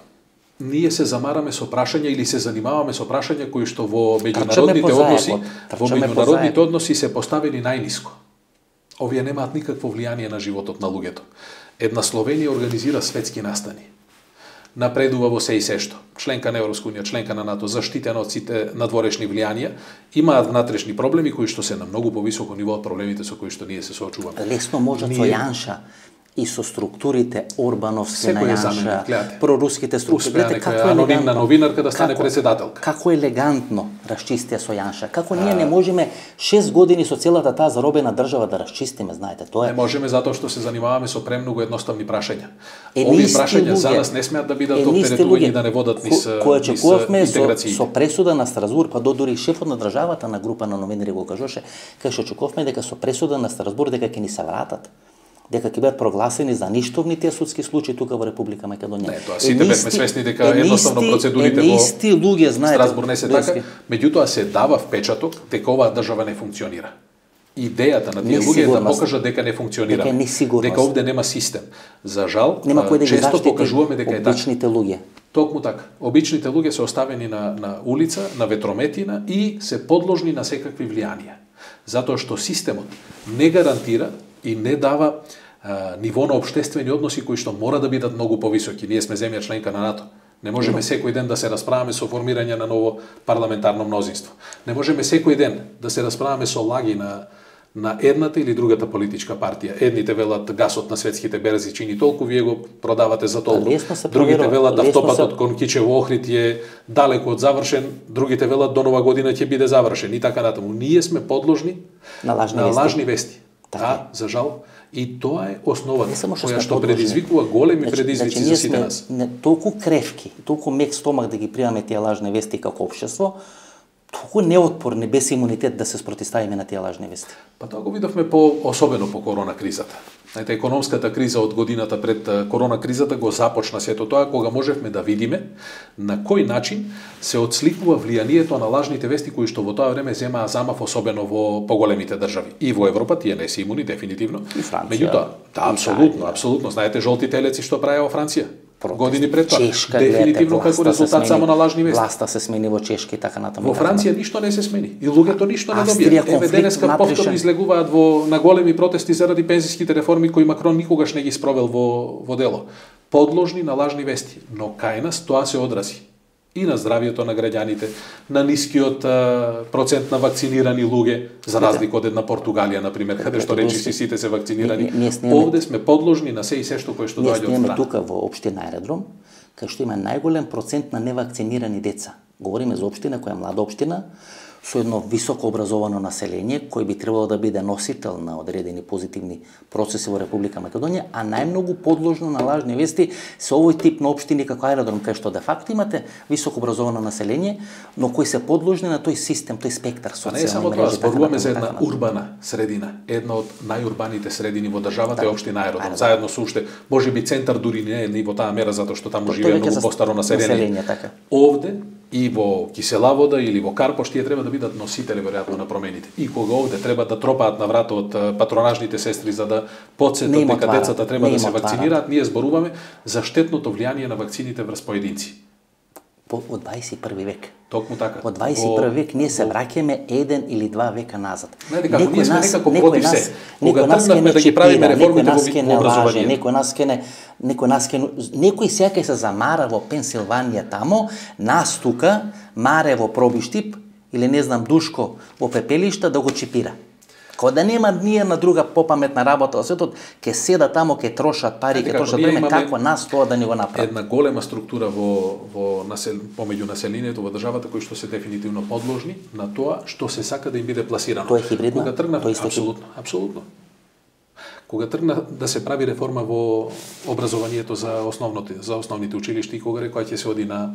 Ние се замараме со прашања или се занимаваме со прашања кои што во меѓународните односи, во меѓународните односи се поставени најниско. Овие немаат никакво влијание на животот на луѓето. Една Словенија организира светски настани. Напредува во се и се што. Членка на Европска унија, членка на НАТО, заштитена од сите надворешни влијанија, имаат внатрешни проблеми кои што се на многу повисоко ниво од проблемите со кои што ние се соочуваме. Лесно можат со Јанша и со структурите Орбановски на Јанша, проруските структури. Гледате како е анонимна новинарка да стане председателка. Како елегантно расчистија со Јанша. Како ние не можеме шест години со целата таа заробена држава да расчистиме, знаете, тоа е. Не можеме затоа што се занимаваме со премногу едноставни прашања. Овие прашања за нас не смеат да бидат оптеретување да не водат низ интеграција. Со пресуда на Страсбург, па додури шефот на државата на група на новинари го кажоше, кај што очекувавме дека со пресуда на Страсбург дека ќе ни се вратат, дека ќе бидат прогласени за ништовни тие судски случаи тука во Република Македонија. Не, тоа сите бевме свесни дека едноставно процедурите во луѓе знаете Страсбург не се така, меѓутоа се дава впечаток дека оваа држава не функционира. Идејата на тие луѓе е да покажат дека не функционира, дека, дека овде нема систем. За жал, нема кој да ги често покажуваме дека е така. Обичните луѓе. Токму така. Обичните луѓе се оставени на на улица, на ветрометина и се подложни на секакви влијанија. Затоа што системот не гарантира и не дава а, ниво на општествени односи кои што мора да бидат многу повисоки. Ние сме земја членка на НАТО. Не можеме секој ден да се расправаме со формирање на ново парламентарно мнозинство. Не можеме секој ден да се расправаме со лаги на на едната или другата политичка партија. Едните велат гасот на светските берзи чини толку, вие го продавате за толку. Другите велат автопатот кон Кичево Охрид е далеку од завршен, другите велат до нова година ќе биде завршен и така натаму. Ние сме подложни на лажни, на вести. лажни вести. Да, за жал. И тоа е основата која што предизвикува големи значи, предизвици значи, за сите нас. Не, толку кревки, толку мек стомак да ги приемаме тие лажни вести како општество, толку неотпорни, без имунитет да се спротивставиме на тие лажни вести. Па тоа го видовме по особено по корона кризата. Знаете, економската криза од годината пред корона кризата го започна сето тоа кога можевме да видиме на кој начин се отсликува влијанието на лажните вести кои што во тоа време земаа замав особено во поголемите држави. И во Европа тие не се имуни дефинитивно. И Франција. Меѓутоа, да, апсолутно, апсолутно. Знаете жолти телеци што правеа во Франција? Протест. Години пред тоа. Чешка, дефинитивно гледате, како резултат само на лажни вести. Власта се смени во Чешка и така натаму. Во Франција ништо не се смени и луѓето ништо не Австрија, добија. Еве денеска повторно излегуваат во на големи протести заради пензиските реформи кои Макрон никогаш не ги спровел во во дело. Подложни на лажни вести, но кај нас тоа се одрази и на здравието на граѓаните, на нискиот а, процент на вакцинирани луѓе, за разлика од една Португалија, на пример, каде што речиси сите се вакцинирани. Овде сме подложни на се и се што кое што доаѓа од страна. Ние тука во општина Аеродром, кај што има најголем процент на невакцинирани деца. Говориме за општина која е млада општина, со едно високо образовано население, кој би требало да биде носител на одредени позитивни процеси во Република Македонија, а најмногу подложно на лажни вести се овој тип на општини како Аеродром, кај што де факто имате високо образовано население, но кои се подложни на тој систем, тој спектар социјални мрежи. А не само тоа, зборуваме за една урбана средина, една од најурбаните средини во државата е општина Аеродром. Заедно со уште, можеби центар дури не е ни во таа мера затоа што таму живее многу постаро население. Овде и во кисела вода или во карпош, тие треба да бидат носители веројатно на промените. И кога овде треба да тропаат на врата од патронажните сестри за да потсетат дека децата треба да се вакцинираат, ние зборуваме за штетното влијание на вакцините врз поединци. По, од дваесет и први век. Токму така. Од дваесет и први век ние се враќаме еден или два века назад. Знаете како, ние сме некако против се. Кога тргнавме да ги правиме реформите во образованието. Некој нас ке не, некој нас ке некој сеќа се замара во Пенсилванија тамо, нас тука маре во пробиштип или не знам Душко во пепелишта да го чипира. Кога да нема ние на друга попаметна работа во светот, ке седа тамо, ке трошат пари, ке трошат време, како нас тоа да ни го направи. Една голема структура во во насел, помеѓу населението во државата кои што се дефинитивно подложни на тоа што се сака да им биде пласирано. Тоа е хибридно. Кога тргна, тоа исто апсолутно, апсолутно. Кога тргна да се прави реформа во образованието за основните за основните училишта и кога рекоа ќе се оди на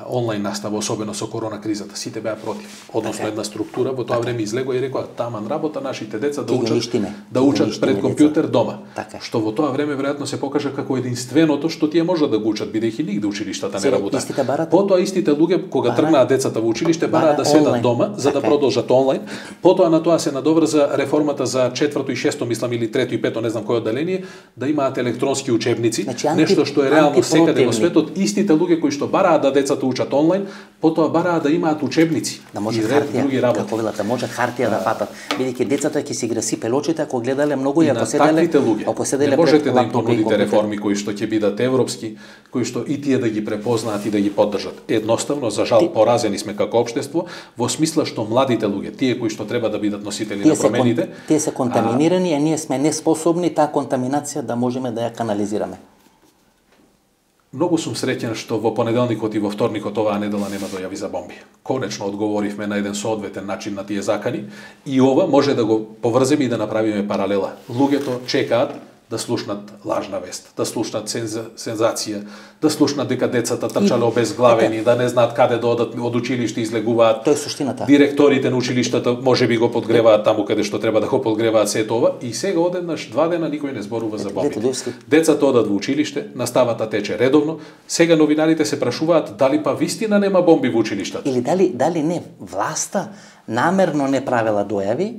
онлайн настава, особено со корона кризата, сите беа против. Односно една структура во тоа време излегоа и рекоа таман работа нашите деца да учат да учат пред компјутер дома. Така. Што во тоа време веројатно се покажа како единственото што тие можат да го учат бидејќи нигде училиштата не работат. Потоа истите луѓе кога тргнаа децата во училиште бараа да седат дома за да продолжат онлайн. Потоа на тоа се надоврза реформата за четврто и шесто, мислам, или трето и пето, не знам кој одделение, да имаат електронски учебници, значи, анти, нешто што е реално секаде во светот. Истите луѓе кои што бараа да децата учат онлайн, потоа бараа да имаат учебници да може и ред други работи. Како велате, може хартија да фатат. Бидејќи децата ќе си граси пелочите ако гледале многу и ако седеле ако седеле не можете да им понудите реформи кои што ќе бидат европски, кои што и тие да ги препознаат и да ги поддржат. Едноставно, за жал, поразени сме како општество во смисла што младите луѓе, тие кои што треба да бидат носители на промените, тие се контаминирани, а ние сме неспособни таа контаминација да можеме да ја канализираме. Многу сум среќен што во понеделникот и во вторникот оваа недела нема дојави за бомби. Конечно одговоривме на еден соодветен начин на тие закани и ова може да го поврземе и да направиме паралела. Луѓето чекаат да слушнат лажна вест, да слушнат сенза, сензација, да слушнат дека децата трчале обезглавени, да не знаат каде да одат од училиште, излегуваат. Тоа е суштината. Директорите на училиштата можеби го подгреваат таму каде што треба да го подгреваат сето ова и сега одеднаш два дена никој не зборува за бомбите. Децата одат во училиште, наставата тече редовно. Сега новинарите се прашуваат дали па вистина нема бомби во училиштата. Или дали дали не власта намерно не правела дојави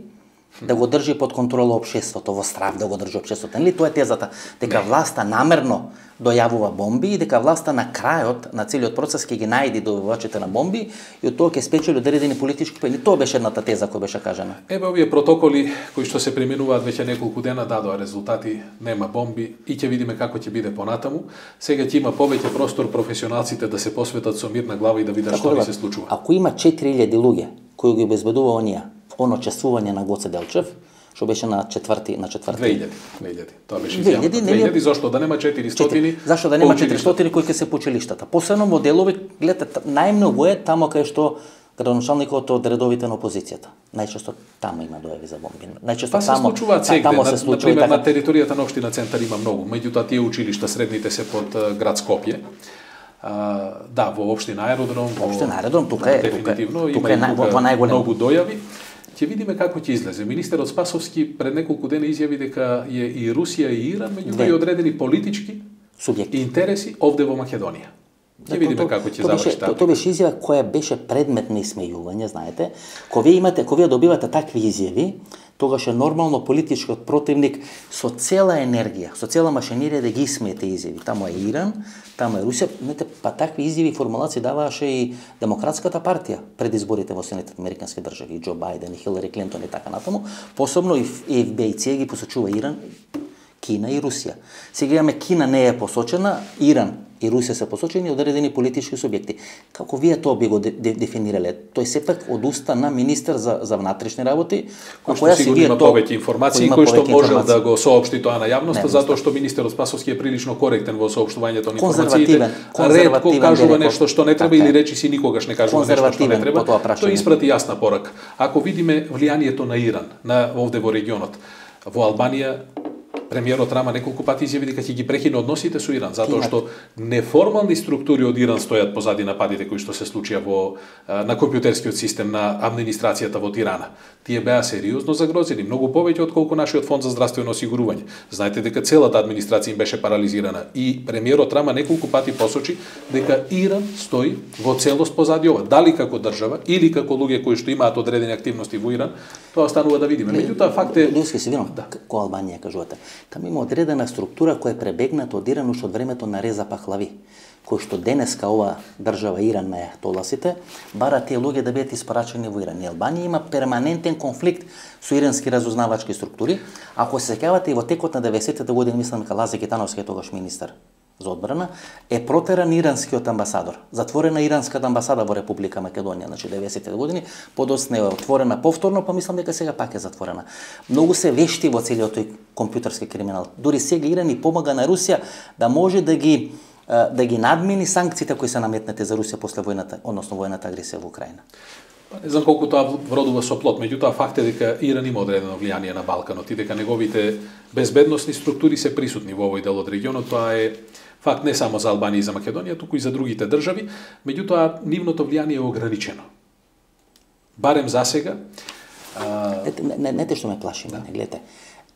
да го држи под контрола општеството, во страв да го држи општеството. Нели тоа е тезата дека не. Власта намерно дојавува бомби и дека власта на крајот на целиот процес ќе ги најди дојавувачите на бомби и од тоа ќе спечели одредени политички поени. Тоа беше едната теза која беше кажана. Еве овие протоколи кои што се применуваат веќе неколку дена дадоа резултати, нема бомби и ќе видиме како ќе биде понатаму. Сега ќе има повеќе простор професионалците да се посветат со мирна глава и да видат што ни се случува. Ако има четири илјади луѓе кои ги обезбедува оние оно чествување на Гоце Делчев, што беше на четврти на четврти две илјади, две илјади. Тоа беше изјавата. две илјади зошто да нема четиристотини? Зашто да нема четиристотини кои ќе се по училиштата? Посебно во делови, гледате, најмногу е тамо кај што градоначалникот од редовите на опозицијата. Најчесто таму има дојави за бомби. Најчесто па тамо, се тамо се случува. Например, така... на територијата на општина Центар има многу, меѓутоа тие училишта средните се под град Скопје. Uh, да, во општина Аеродром, во општина Аеродром тука е, дефинитивно тука, тука има е во најголемо многу дојави. Ќе видиме како ќе излезе. Министерот Спасовски пред неколку дена изјави дека е и Русија и Иран меѓу и одредени политички субјекти интереси овде во Македонија. Ќе видиме како ќе заврши таа. Тоа беше изјава која беше предмет на исмејување, знаете. Кога вие имате, кога вие добивате такви изјави, тогаш е нормално политичкиот противник со цела енергија, со цела машинерија да ги исмее тие изјави. Таму е Иран, таму е Русија, знаете, па такви изјави и формулации даваше и Демократската партија пред изборите во Соединетите американски држави, и Џо Бајден, и Хилари Клинтон и така натаму. Посебно и Еф Би Ај Си ги посочува Иран, Кина и Русија. Сега имаме Кина не е посочена, Иран и Русија се посочени одредени политички субјекти. Како вие тоа би го де, де, дефинирале? Тој сепак од уста на министер за, за внатрешни работи, кој што сигурно има повеќе информации, кој што можел да го соопшти тоа на јавноста, затоа што министерот Спасовски е прилично коректен во соопштувањето на информациите. Ретко кажува нешто што не треба или речи си никогаш не кажува нешто што не треба. Тој испрати јасна порака. Ако видиме влијанието на Иран на овде во регионот, во Албанија Премиерот Рама неколку пати изјави дека ќе ги прекине односите со Иран, затоа што неформални структури од Иран стојат позади нападите кои што се случија во на компјутерскиот систем на администрацијата во Тирана. Тие беа сериозно загрозени, многу повеќе отколку нашиот фонд за здравствено осигурување. Знаете дека целата администрација им беше парализирана и премиерот Рама неколку пати посочи дека Иран стои во целост позади ова. Дали како држава или како луѓе кои што имаат одредени активности во Иран, тоа останува да видиме. Меѓутоа факт е Лујски се вино, да. Кој Албанија кажувате. Таму има одредена структура која е пребегната од Иран уште од времето на Реза Пахлави, кој што денеска ова држава Иран на толасите, бара тие луѓе да бидат испрачени во Иран. И Албанија има перманентен конфликт со ирански разузнавачки структури. Ако се сеќавате и во текот на деветдесетите години, мислам дека Лазе Китановски е тогаш министер за одбрана, е протеран иранскиот амбасадор. Затворена иранската амбасада во Република Македонија, значи деветдесетите години, подоцна е отворена повторно, па мислам дека сега пак е затворена. Многу се вешти во целиот тој компјутерски криминал. Дури сега Иран и помага на Русија да може да ги да ги надмини санкциите кои се наметнете за Русија после војната, односно војната агресија во Украина. Не знам колку тоа вродува со плод, меѓутоа факт е дека Иран има одредено влијание на Балканот и дека неговите безбедносни структури се присутни во овој дел од регионот. Тоа е факт не само за Албанија и за Македонија, туку и за другите држави, меѓутоа нивното влијание е ограничено. Барем за сега. А... Не, не, не те што ме плаши, да. Не гледате.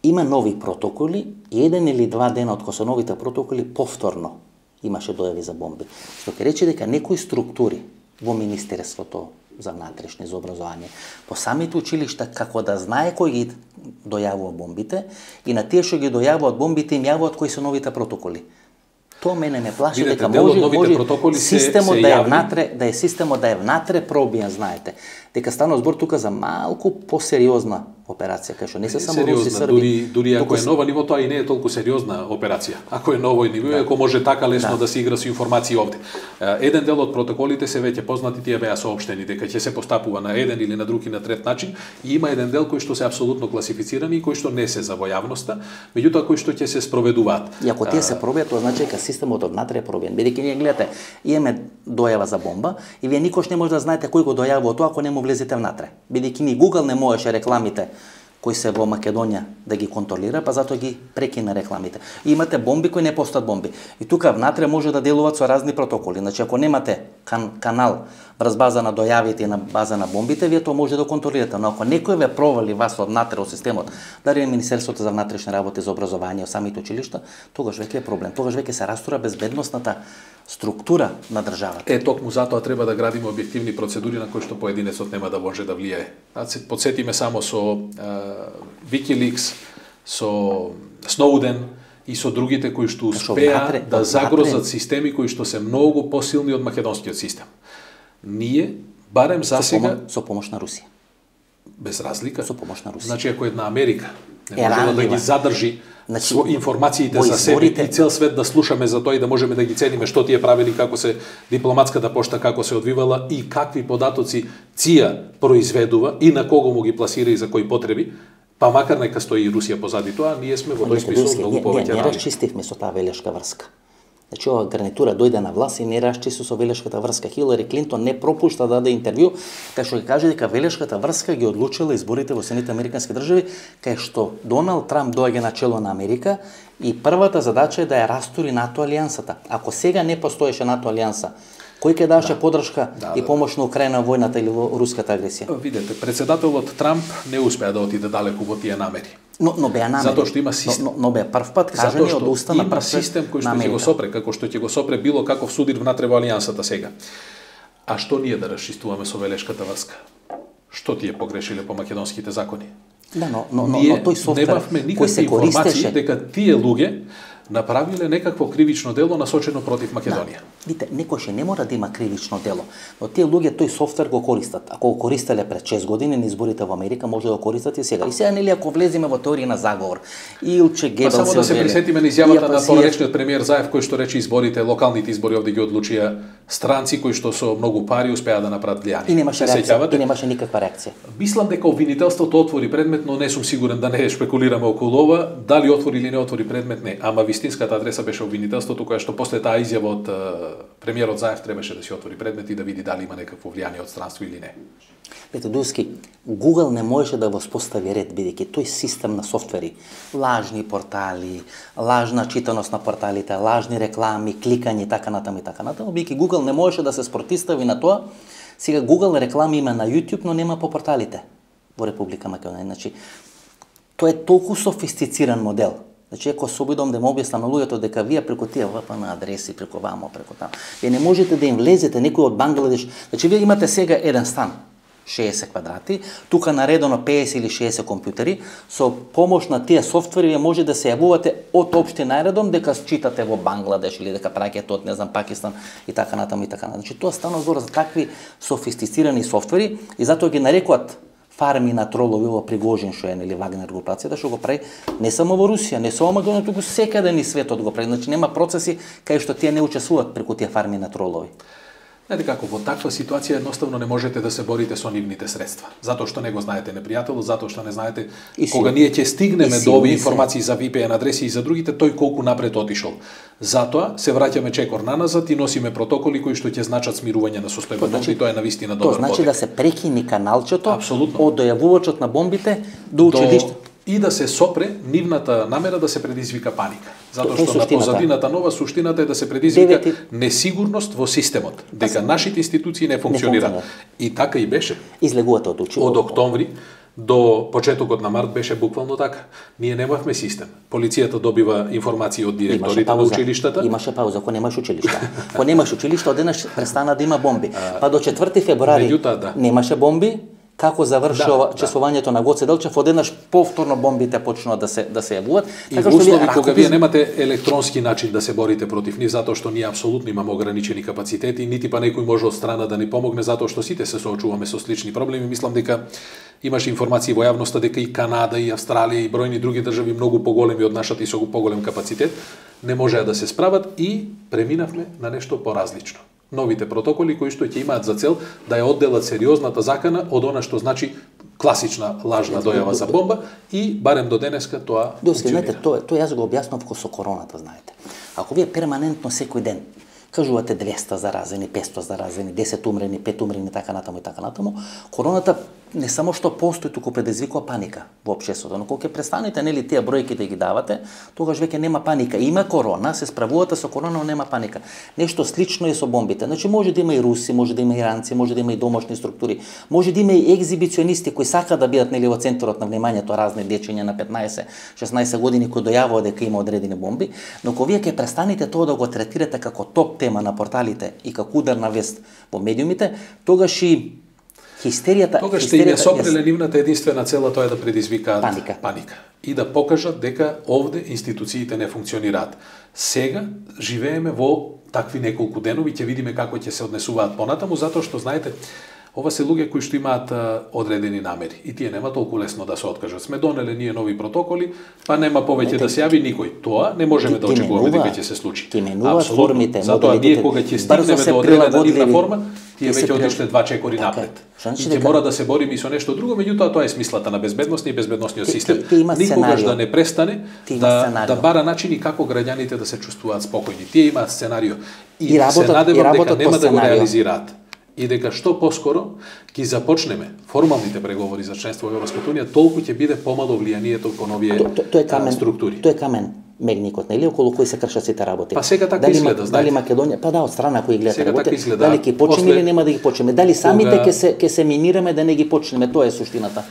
Има нови протоколи, еден или два дена од кога се новите протоколи повторно имаше дојави за бомби. Што ќе рече дека некои структури во Министерството за внатрешни, за образование, по самите училишта, како да знае кој ги дојавува бомбите и на тие што ги дојавуваат бомбите им јавуваат кои се новите протоколи. Тоа мене ме плаши. Видете, дека може, може системот се, да е внатре, да е системот да е внатре пробијан, знаете. Дека станува збор тука за малку посериозна операција, кај што не се само руси, срби. Дури, дури ако е нова ниво, тоа и не е толку сериозна операција. Ако е ново ниво, да. Ако може така лесно да. Да се игра со информации овде. Еден дел од протоколите се веќе познати, тие беа соопштени дека ќе се постапува на еден или на друг и на трет начин, и има еден дел кој што се апсолутно класифицирани и кој што не се за во јавноста, меѓутоа кои што ќе се спроведуваат. И ако тие се пробијат, тоа значи дека системот однатре е пробиен. Бидејќи ние гледате, имаме дојава за бомба и вие никош не може да знаете кој го дојавува тоа ако не му влезете внатре. Бидејќи ни Google не можеше рекламите кои се во Македонија да ги контролира, па затоа ги прекина рекламите. И имате бомби кои не постат бомби. И тука внатре може да делуваат со разни протоколи. Значи ако немате кан канал врз база на дојавите и на база на бомбите, вие тоа може да контролирате. Но ако некој ве провали вас од внатре од системот, дали е Министерството за внатрешни работи, за образование, самите училишта, тогаш веќе е проблем. Тогаш веќе се растура безбедносната структура на државата. Е, токму затоа треба да градиме објективни процедури на кои што поединецот нема да може да влијае. А се подсетиме само со Wikileaks, со Snowden и со другите кои што успеа да загрозат системи кои што се многу посилни од македонскиот систем. Ние, барем за сега... Со помош на Русија. Без разлика. Со помош на Русија. Значи, ако една Америка не може да ги задржи значи, информациите за себе изборите... и цел свет да слушаме за тоа и да можеме да ги цениме што тие правили, како се дипломатската пошта, како се одвивала и какви податоци ЦИА произведува и на кого му ги пласира и за кои потреби, па макар нека стои и Русија позади тоа, ние сме во тој смисол многу повеќе рани. Не расчистивме со таа велешка врска. Значи, ова гарнитура дојде на власт и не расчисти со велешката врска. Хилари Клинтон не пропушта да даде интервју, кај што ќе каже дека велешката врска ги одлучила изборите во Соединетите американски држави, кај што Доналд Трамп доаѓа на чело на Америка и првата задача е да ја растури НАТО алијансата. Ако сега не постоеше НАТО алијанса, кој ќе даваше да. подршка да, и помош на Украина војната или во руската агресија? Видете, председателот Трамп не успеа да отиде далеку во тие намери. Но, но беа намери. Затоа што има систем. Но, но беа прв пат кажани од уста на прв систем кој што ќе го сопре, како што ќе го сопре било каков судир внатре во алијансата сега. А што ние да расчистуваме со велешката врска? Што тие погрешиле по македонските закони? Да, но, но, но, ние но тој софтвер кој се користеше дека тие луѓе направиле некакво кривично дело насочено против Македонија. Да. Видите, некојше не мора да има кривично дело, но тие луѓе тој софтвер го користат. Ако го користеле пред шест години на изборите во Америка, може да го користат и сега. И сега нели ако влеземе во теорија на заговор, Илче Гебелс само да се присетиме на изјавата на поречниот премиер Заев кој што рече изборите, локалните избори овде ги одлучија странци кои што со многу пари успеа да направат влијание. И немаше реакција, и немаше никаква реакција. Мислам дека обвинителството отвори предмет, но не сум сигурен да не шпекулираме околу ова, дали отвори или не отвори предмет, не. Ама ви вистинската адреса беше обвинителството, кое што после таа изјава од премиерот Заев требаше да си отвори предмет и да види дали има некакво влијание од странство или не. Ете, Дуски, Google не можеше да воспостави ред, бидејќи тој систем на софтвери, лажни портали, лажна читаност на порталите, лажни реклами, кликање и така натаму и така натаму, бидејќи Google не можеше да се спротистави на тоа. Сега Google реклами има на YouTube, но нема по порталите во Република Македонија. Значи, тоа е толку софистициран модел. Значи, ако се обидам да му објаснам на луѓето дека вие преку тие ви пи ен адреси, преку вамо, преку таму, вие не можете да им влезете некој од Бангладеш. Значи, вие имате сега еден стан, шеесет квадрати, тука наредено педесет или шеесет компјутери, со помош на тие софтвери вие може да се јавувате од општина наредом дека читате во Бангладеш или дека праќате од, не знам, Пакистан и така натаму и така натаму. Значи, тоа станува збор за такви софистицирани софтвери и затоа ги нарекуваат фарми на тролови во Пригожин, што е, нели, Вагнер групацијата, што го прави не само во Русија, не само Македонија, туку секаде ни светот го прави. Значи нема процеси кај што тие не учествуваат преку тие фарми на тролови. Знаете како, во таква ситуација едноставно не можете да се борите со нивните средства. Затоа што не го знаете непријателот, затоа што не знаете и кога ние ќе стигнеме до овие информации за ви пи ен адреси и за другите, тој колку напред отишол. Затоа се враќаме чекор наназад и носиме протоколи кои што ќе значат смирување на состојбата, значи, и тоа е навистина добар потек. Тоа значи потек. да се прекини каналчето Апсолутно. од дојавувачот на бомбите до училиште. И да се сопре нивната намера да се предизвика паника. Затоа што на позадината нова суштината е да се предизвика Девети... несигурност во системот, дека нашите институции не функционираат. И така и беше. Излегувате од училиште. Од октомври до почетокот на март беше буквално така. Ние немавме систем. Полицијата добива информации од директорите на училиштата. Имаше пауза, ако немаш училишта. Ако немаш училишта, одеднаш престана да има бомби. Па до четврти февруари Меѓутоа, да. немаше бомби. Како завршува да, чесувањето да. на Гоце Делчев, одеднаш повторно бомбите почнува да се да се јавуваат. И така во услови кога вие немате електронски начин да се борите против нив, затоа што ние апсолутно имаме ограничени капацитети, нити па некој може од страна да ни помогне, затоа што сите се соочуваме со слични проблеми. Мислам дека имаше информации во јавноста дека и Канада, и Австралија, и бројни други држави многу поголеми од нашата и со поголем капацитет не можеа да се справат и преминавме на нешто поразлично. Новите протоколи кои што ќе имаат за цел да ја одделат сериозната закана од она што значи класична лажна дојава за бомба и барем до денеска тоа функционира. Тоа тоа јас го објаснав со короната, знаете. Ако вие перманентно секој ден кажувате двеста заразени, петстотини заразени, десет умрени, пет умрени, така натаму и така натаму, короната не само што постои, туку предизвикува паника во општеството. Но кога ќе престанете, нели, тие бројки да ги давате, тогаш веќе нема паника. Има корона, се справувате со корона, но нема паника. Нешто слично е со бомбите. Значи може да има и руси, може да има и иранци, може да има и домашни структури, може да има и екзибиционисти кои сакаат да бидат, нели, во центарот на вниманието, разни дечиња на петнаесет шеснаесет години кои дојавуваат дека има одредени бомби, но кога вие ќе престанете тоа да го третирате како топ тема на порталите и како ударна вест во медиумите, тогаш и хистеријата, тогаш ќе им ја сопреле нивната единствена цела, тоа е да предизвикаат паника. паника и да покажат дека овде институциите не функционираат. Сега живееме во такви неколку денови, ќе видиме како ќе се однесуваат понатаму, затоа што знаете, ова се луѓе кои што имаат а, одредени намери и тие нема толку лесно да се откажат. Сме донеле ние нови протоколи, па нема повеќе да се јави никој. Тоа не можеме да очекуваме дека ќе се случи. Апсолутно. Затоа ние кога ќе стигнеме до одредена нивна форма, тие веќе отишле два чекори така напред. И ќе мора да се бориме и со нешто друго, меѓутоа тоа е смислата на безбедноста и безбедносниот систем. Никогаш да не престане да, да бара начини како граѓаните да се чувствуваат спокојни. Тие имаат сценарио и, и работат, се надевам дека нема да го реализираат. И дека што поскоро ќе започнеме формалните преговори за членство во Европската унија, толку ќе биде помало влијанието кон овие то, то, то е камен, структури. Тоа е камен мегникот, нели, околу кој се кршат сите работи. Па сега така дали, изгледа, знаете. Дали Македонија, па да, од страна кои гледат сега работи, така дали ќе почнеме или нема да ги почнеме, дали самите кога... ќе се ќе се минираме да не ги почнеме, тоа е суштината.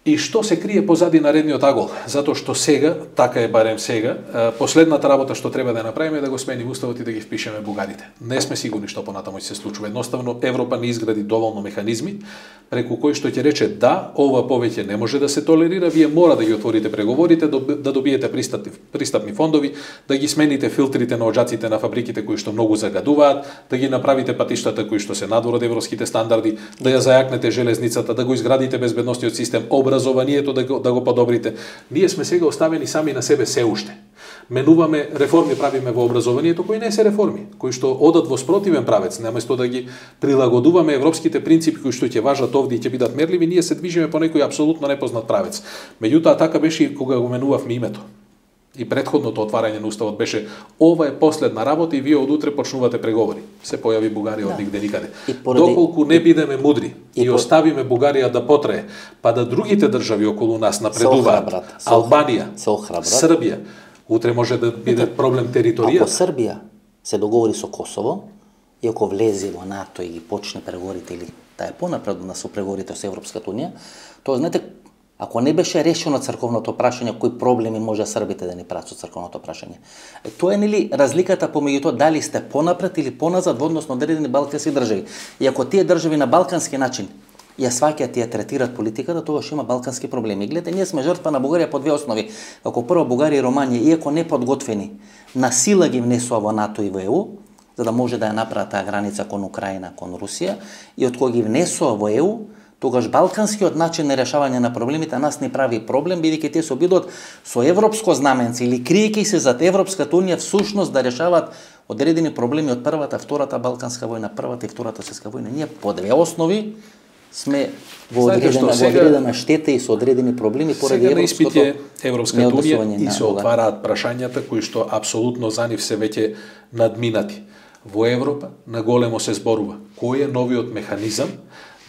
И што се крие позади наредниот агол? Затоа што сега, така е барем сега, последната работа што треба да направиме е да го смениме уставот и да ги впишеме бугарите. Не сме сигурни што понатаму ќе се случува. Едноставно Европа не изгради доволно механизми преку кои што ќе рече да, ова повеќе не може да се толерира, вие мора да ги отворите преговорите, да добиете пристапни, пристапни фондови, да ги смените филтрите на оџаците на фабриките кои што многу загадуваат, да ги направите патиштата кои што се надвор од европските стандарди, да ја зајакнете железницата, да го изградите безбедносниот систем, образованието да го, да го подобрите. Ние сме сега оставени сами на себе се уште. Менуваме реформи, правиме во образованието кои не се реформи, кои што одат во спротивен правец, наместо да ги прилагодуваме европските принципи кои што ќе важат овде и ќе бидат мерливи, ние се движиме по некој апсолутно непознат правец. Меѓутоа така беше и кога го менувавме името. И предходното отварање на уставот беше ова е последна работа и вие од утре почнувате преговори. Се појави Бугарија од нигде никаде. поради... Доколку не бидеме мудри и, и, и оставиме Бугарија да потрае, па да другите држави околу нас напредуваат, Албанија, Србија, утре може да биде проблем територија. Ако Србија се договори со Косово и ако влезе во НАТО и ги почне преговорите или да е понапредна со преговорите со Европската унија, тоа знаете, ако не беше решено црковното прашање, кои проблеми може србите да ни прават со црковното прашање? Тоа е нели разликата помеѓу тоа дали сте понапред или поназад во однос на одредени балкански држави. И ако тие држави на балкански начин ја сваќаат и ја третираат политиката, тогаш има балкански проблеми. Гледате, ние сме жртва на Бугарија по две основи. Како прво Бугарија и Романија, иако не подготвени, на сила ги внесува во НАТО и во Е У, за да може да ја направат таа граница кон Украина, кон Русија, и од кога ги внесува во Е У, тогаш балканскиот начин на решавање на проблемите нас не прави проблем, бидејќи те се обидуваат со европско знаменце или криејќи се зад Европската унија всушност да решаваат одредени проблеми од првата, втората балканска војна, првата и втората светска војна. Ние по две основи сме во одредена, во одредена штета и со одредени проблеми поради европското Европската унија и се отвараат прашањата кои што апсолутно за нив се веќе надминати. Во Европа на големо се зборува кој е новиот механизам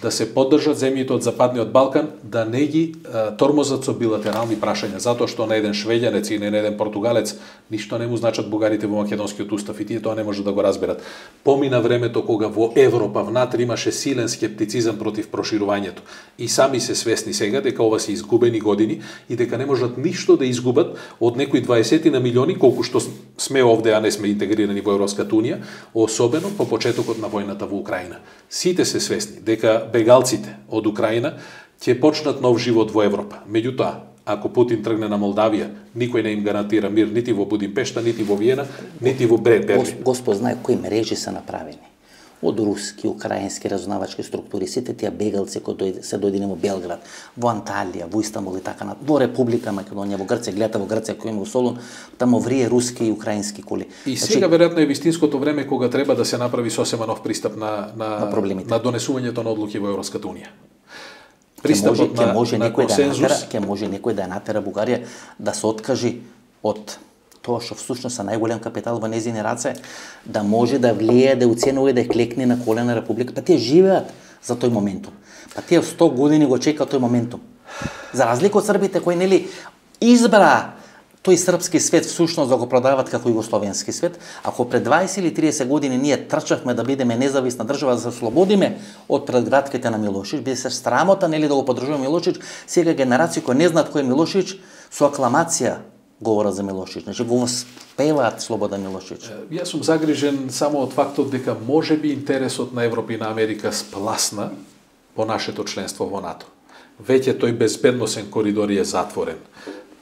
да се поддржат земјите од Западниот Балкан, да не ги а, тормозат со билатерални прашања, затоа што на еден швеѓанец и на еден португалец ништо не му значат бугарите во македонскиот устав и тие тоа не може да го разберат. Помина времето кога во Европа внатре имаше силен скептицизам против проширувањето и сами се свесни сега дека ова се изгубени години и дека не можат ништо да изгубат од некои дваесет на милиони колку што сме овде, а не сме интегрирани во Европската унија, особено по почетокот на војната во Украина. Сите се свесни дека бегалците од Украина ќе почнат нов живот во Европа. Меѓутоа, ако Путин тргне на Молдавија, никој не им гарантира мир нити во Будимпешта, нити во Виена, нити во Берлин. Господ знае кои мрежи се направени. Од руски, украински разузнавачки структури, сите тие бегалци кои се дојдени во Белград, во Анталија, во Истанбул и така на, во Република Македонија, во Грција, гледате во Грција кој има во Солун, таму врие руски и украински коли. И значи, сега веројатно е вистинското време кога треба да се направи сосема нов пристап на на, на, на донесувањето на одлуки во Европската унија. Пристапот ке може, на, на консензус, да натера, ке може некој да натера Бугарија да се откажи од тоа што всушност е најголем капитал во незини раце, да може да влие, да уценува и да клекне на колена Република. Па тие живеат за тој моментум. Па тие сто години го чекаат тој моментум. За разлика од србите кои нели избра тој српски свет всушност да го продават како југословенски свет, ако пред дваесет или триесет години ние трчавме да бидеме независна држава, да се ослободиме од предгратките на Милошевич, биде се срамота нели да го поддржува Милошевич, сега генерации кои не знаат кој е Милошевич, со акламација говора за Милошевич, значи го спеваат Слободан Милошевич. Јас сум загрижен само од фактот дека можеби интересот на Европа и на Америка спласна по нашето членство во НАТО. Веќе тој безбедносен коридор е затворен.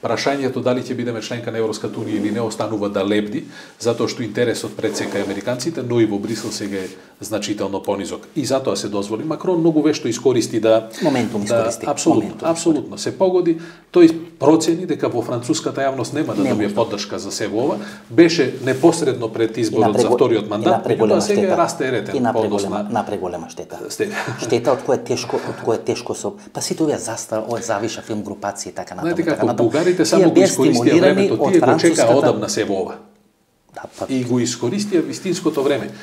Прашањето дали ќе бидеме членка на Европската унија или не останува да лебди, затоа што интересот пред сека американците, но и во Брисел сега е значително понизок. И затоа се дозволи. Макрон многу вешто искористи да моментум искористи. Да, апсолутно, моментум апсолутно се погоди. Тој процени дека во француската јавност нема да добие поддршка за себе ова. Беше непосредно пред изборот за вториот мандат, меѓутоа сега е расте ретен. И напреголема, напреголема штета. Штета од која тешко, од која тешко со. Па сите овие застава, од завиша филм групации и така натаму. Знаете како бугарите само го искористија времето, тие го чекаа одамна себе ова. Да, па... И го искористија вистинското време.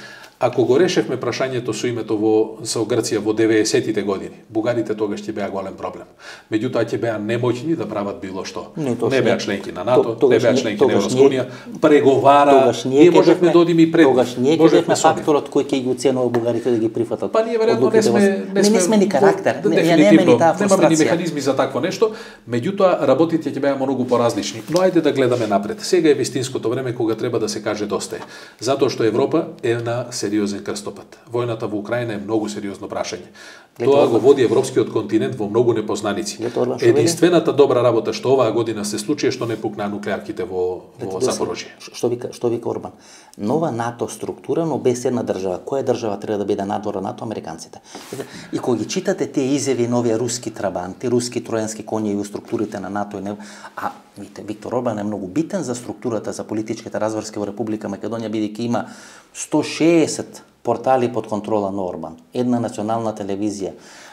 Ако го решевме прашањето со името во со Грција во деветдесетите години, бугарите тогаш ќе беа голем проблем. Меѓутоа ќе беа немоќни да прават било што. Не, не беа членки на НАТО, то, не беа членки на Европска унија, преговара, ние можевме да одиме и пред. Тогаш ние ќе бевме факторот кој ќе ги уценува бугарите да ги прифатат. Па ние веројатно не сме не сме, не сме ни карактер, не немаме ни таа фрустрација. Немаме ни механизми за такво нешто, меѓутоа работите ќе беа многу поразлични. Но ајде да гледаме напред. Сега е вистинското време кога треба да се каже доста е. Затоа што Европа е на сериозен крстопат. Војната во Украина е многу сериозно прашање. Тоа го води европскиот континент во многу непознаници. Единствената добра работа што оваа година се случи е што не пукнаа нуклеарките во во Запорожје. Што вика што вика Орбан? Нова НАТО структура, но без една држава. Која држава треба да биде надвор НАТО? Американците. И кога ги читате тие изјави нови руски трабанти, руски тројански коњи и структурите на НАТО и не, а видите, Виктор Орбан е многу битен за структурата за политичките разврски во Република Македонија, бидејќи има сто шеесет портали под контрола на Орбан, една национална телевизија,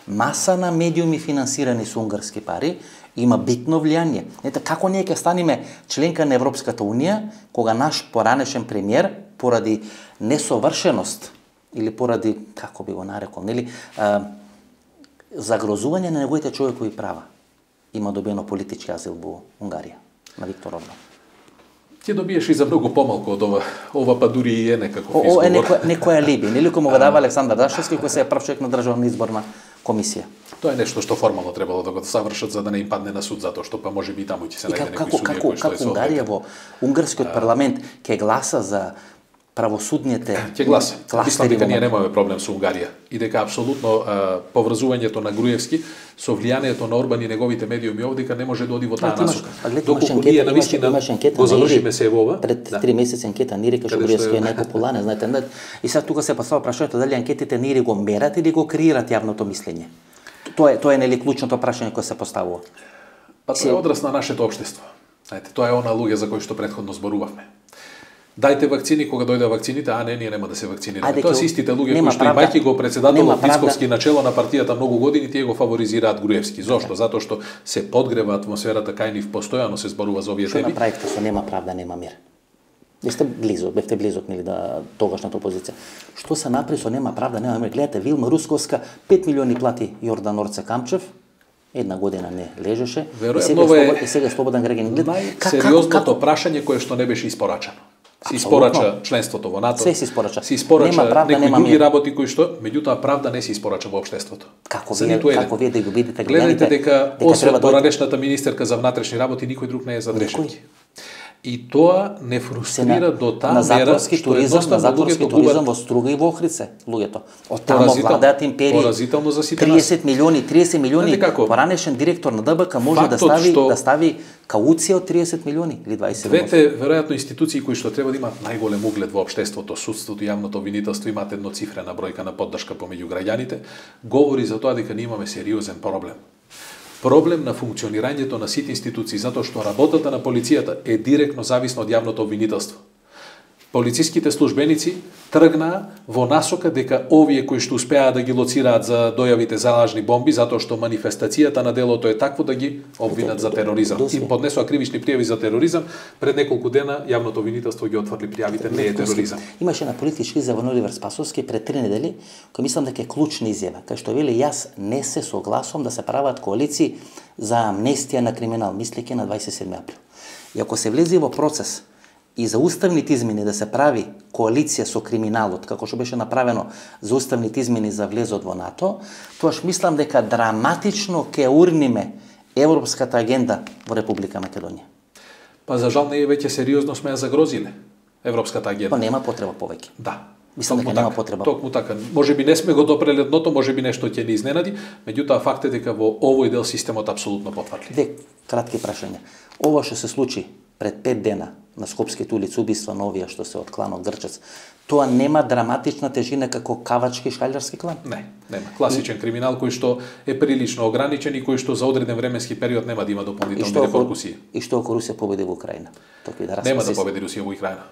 маса на медиуми финансирани со унгарски пари, има битно влијание. Ете, како ние ќе станеме членка на Европската Унија, кога наш поранешен премиер, поради несовршеност, или поради, како би го нарекол, нели, а, загрозување на неговите човекови права, има добено политички азил во Унгарија, на Виктор Орбан. Ќе добиеш и за многу помалку од ова. Ова па дури и е некаков О, изговор. е некој, некој алиби, нели кој му го дава Александар Дашевски, кој се е прв човек на државна изборна комисија. Тоа е нешто што формално требало да го завршат за да не им падне на суд, затоа што па може би таму ќе се И најде како, некој како, судија како, кој што е како Унгарија во унгарскиот парламент ќе гласа за правосудните Ќе гласа. Мислам кластери дека во ние немаме проблем со Унгарија и дека апсолутно а, поврзувањето на Груевски со влијанието на Орбан и неговите медиуми овдека не може да оди во таа насока. Доколку ние навистина го завршиме се во ова, пред три месеци анкета не река што Груевски е најпопуларен, знаете, не, и сега тука се поставува прашањето дали анкетите не го мерат или го креират јавното мислење. Тоа е тоа е нели клучното прашање кое се поставува. Па тоа е одраз на нашето општество. Знаете, тоа е она луѓе за кои што претходно зборувавме. Дајте вакцини кога дојде вакцините, а не, ние нема да се вакцинираме. Тоа се истите луѓе кои што имајќи го председателот Мицковски начело на партијата многу години, тие го фаворизираат Груевски. Зошто? Затоа што се подгрева атмосферата кај нив, постојано се зборува за овие теми. Што направивте со нема правда, нема мир? Бевте близо, бевте близо нели да тогашната опозиција. Што се направи со нема правда, нема мир? Гледате, Вилма Русковска пет милиони плати Јордан Орце Камчев. Една година не лежеше. Веројатно и сега, е слобод, и сега слободен граѓанин. Најсериозното прашање кое што не беше испорачано. Се испорача членството во НАТО. Се се испорача. Се испорача нема правда, некои нема други мир. работи кои што, меѓутоа правда не се испорача во општеството. Како вие, како вие да го видите граѓаните? Гледајте дека, дека освен да поранешната министерка за внатрешни работи, никој друг не е за дрешетки. И тоа не фрустрира до таа на мера затворски туризам, на затворски туризам во Струга и во Охридсе, луѓето. Од таму владеат империи. Поразително за сите триесет милиони, триесет милиони. Поранешен директор на ДБК може Фактот да стави што... да стави кауција од триесет милиони или дваесет. Двете веројатно институции кои што треба да имаат најголем углед во општеството, судството и јавното обвинителство, имаат едноцифрена бројка на поддршка помеѓу граѓаните, говори за тоа дека ние имаме сериозен проблем. Проблем на функционирањето на сите институции, затоа што работата на полицијата е директно зависна од јавното обвинителство. Полициските службеници тргнаа во насока дека овие кои што успеа да ги лоцираат за дојавите за лажни бомби, затоа што манифестацијата на делото е такво да ги обвинат за тероризам. Им поднесоа кривични пријави за тероризам, пред неколку дена јавното обвинителство ги отврли пријавите, не е тероризам. Имаше на политички изјава на Оливер Спасовски пред три недели, кој мислам дека е клучна изјава, кај што вели јас не се согласувам да се прават коалиции за амнестија на криминал, мислејќи на дваесет и седми април. И ако се влезе во процес и за уставните измени да се прави коалиција со криминалот, како што беше направено за уставните измени за влезот во НАТО, тоаш мислам дека драматично ќе урниме европската агенда во Република Македонија. Па за жал не е веќе сериозно сме ја загрозиле европската агенда. Па нема потреба повеќе. Да. Мислам дека нема потреба. Токму така. Може би не сме го допреле дното, може би нешто ќе ни изненади, меѓутоа факт е дека во овој дел системот апсолутно потврди. Две кратки прашања. Ова што се случи пред пет дена на Скопските улици, убиства на овие што се од кланот Грчец, тоа нема драматична тежина како кавачки шкалјарски клан? Не, нема. Класичен криминал кој што е прилично ограничен и кој што за одреден временски период нема да има дополнителни репоркусии. И што ако Русија победи во Украина? Да нема да победи Русија во Украина.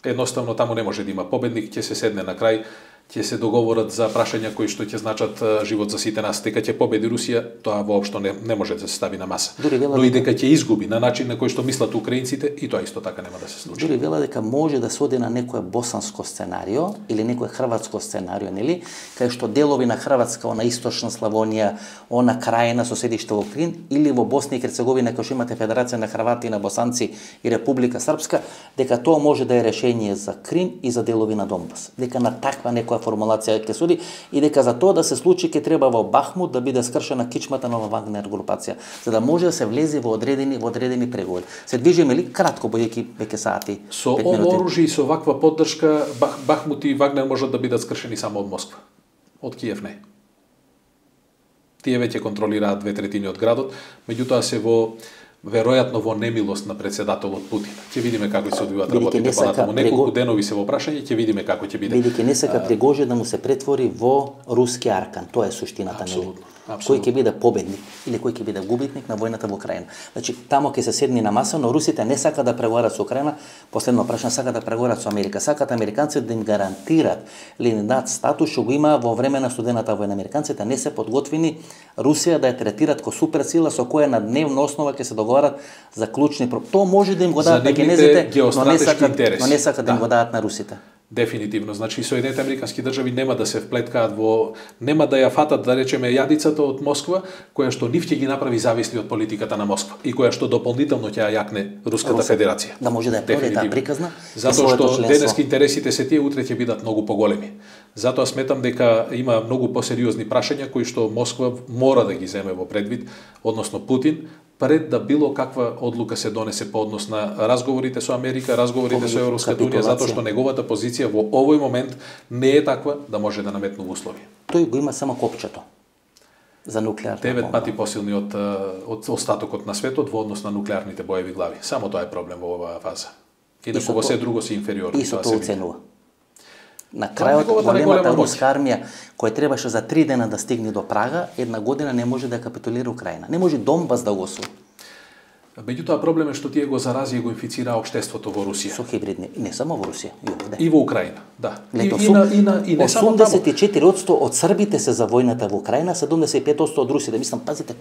Едноставно таму не може да има победник, ќе се седне на крај, ќе се договорат за прашања кои што ќе значат живот за сите нас. Дека ќе победи Русија, тоа воопшто не, не може да се стави на маса. Но и дека ќе изгуби на начин на кој што мислат украинците, и тоа исто така нема да се случи. Дури вела дека може да се оди на некое босанско сценарио или некое хрватско сценарио, нели? Кај што делови на Хрватска, она источна Славонија, она крајна со седиште во Крин, или во Босна и Херцеговина, кај што имате Федерација на Хрвати, на Босанци и Република Српска, дека тоа може да е решение за Крим и за делови на Донбас. Дека на таква некоја формулација ќе суди и дека за тоа да се случи ќе треба во Бахмут да биде скршена кичмата на Вагнер групација, за да може да се влезе во одредени во одредени преговори. Се движиме ли кратко бојќи веќе сати? Со ово оружје и со ваква поддршка Бах, Бахмут и Вагнер можат да бидат скршени само од Москва. Од Киев не. Тие веќе контролираат две третини од градот, меѓутоа се во веројатно во немилост на председателот Путин. Ќе видиме како ќе се одвиваат работите понатаму. Неколку денови се во прашање, ќе видиме како ќе биде. Бидејќи не сака Пригожин да му се претвори во руски аркан. Тоа е суштината. Апсолутно. кој ќе биде победник или кој ќе биде губитник на војната во Украина. Значи, тамо ќе се седни на маса, но русите не сака да преговарат со Украина, последно прашање, сака да преговарат со Америка. Сакат американците да им гарантират или им дадат статус што го има во време на студената војна. Американците не се подготвени Русија да ја третираат како суперсила со која на дневна основа ќе се договарат за клучни проблеми. Тоа може да им го дадат на кинезите, но не сакат, но не сакат да им го дадат на русите. Дефинитивно, значи Соединените американски држави нема да се вплеткаат во, нема да ја фатат, да речеме, јадицата од Москва, која што нив ќе ги направи зависни од политиката на Москва и која што дополнително ќе ја јакне Руската Русата, федерација. Да може да ја продаде таа приказна. Затоа што денески интересите се тие, утре ќе бидат многу поголеми. Затоа сметам дека има многу посериозни прашања кои што Москва мора да ги земе во предвид, односно Путин, пред да било каква одлука се донесе по однос на разговорите со Америка, разговорите со Европската унија, затоа што неговата позиција во овој момент не е таква да може да наметнува услови. Тој го има само копчето за нуклеарна Девет пати посилни од, од остатокот на светот во однос на нуклеарните боеви глави. Само тоа е проблем во оваа фаза. Инаку во се друго се инфериорно. И со тоа оценува. На крајот големата руска армија која требаше за три дена да стигне до Прага, една година не може да капитулира Украина. Не може Донбас да го освои. Меѓутоа проблем е што тие го зарази и го инфицира општеството во Русија. Со хибридни, не само во Русија, и овде. И во Украина, да. Лето, и, и, на, и, на, и не само таму. осумдесет и четири одсто од србите се за војната во Украина, седумдесет и пет одсто од русите. Мислам, пазите,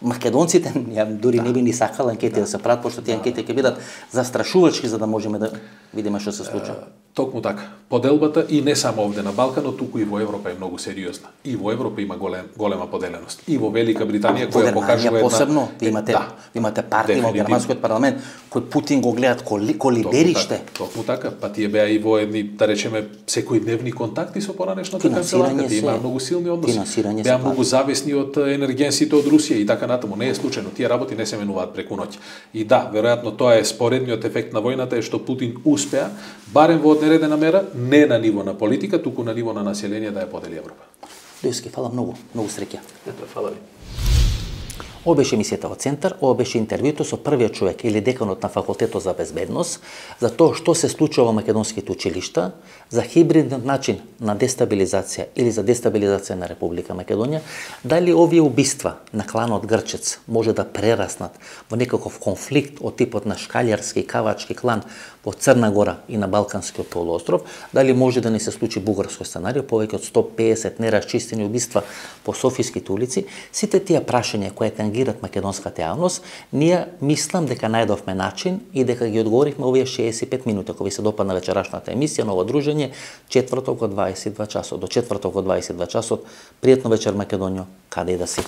македонците, ја дури да. не би ни сакала анкети да, да се прават, пошто тие да. анкети ќе бидат застрашувачки за да можеме да видиме што се случува. Токму така. Поделбата и не само овде на Балканот, туку и во Европа е многу сериозна. И во Европа има голем, голема поделеност. И во Велика Британија која покажува една посебно, ви имате да, имате партија во германскиот парламент кој Путин го гледат коли колибериште. Токму така, па тие беа и во едни, да речеме, секојдневни контакти со поранешната канцеларка, тие имаа многу силни односи. Беа многу зависни од енергенсите од Русија и така натаму. Не е случајно, тие работи не се менуваат преку ноќ. И да, веројатно тоа е споредниот ефект на војната е што Путин успеа барем во одредена мера, не на ниво на политика, туку на ниво на население да ја подели Европа. Дојски, фала многу, многу среќа. Ето, фала ви. Ова беше емисијата во Центар, ова беше интервјуто со првиот човек или деканот на Факултетот за безбедност за тоа што се случува во македонските училишта, за хибридниот начин на дестабилизација или за дестабилизација на Република Македонија, дали овие убиства на кланот Грчец може да прераснат во некаков конфликт од типот на шкалјарски и кавачки клан во Црна Гора и на Балканскиот полуостров, дали може да не се случи бугарско сценарио, повеќе од сто песет нерасчистени убиства по софиските улици, сите тие прашања кои тангират македонската јавност, ние мислам дека најдовме начин и дека ги одговоривме овие шеесет и пет минути. Ако ви се допадна вечерашната емисија, ново дружење, четврток од дваесет и два часот. До четврток од дваесет и два часот, пријатно вечер Македонијо, каде и да си.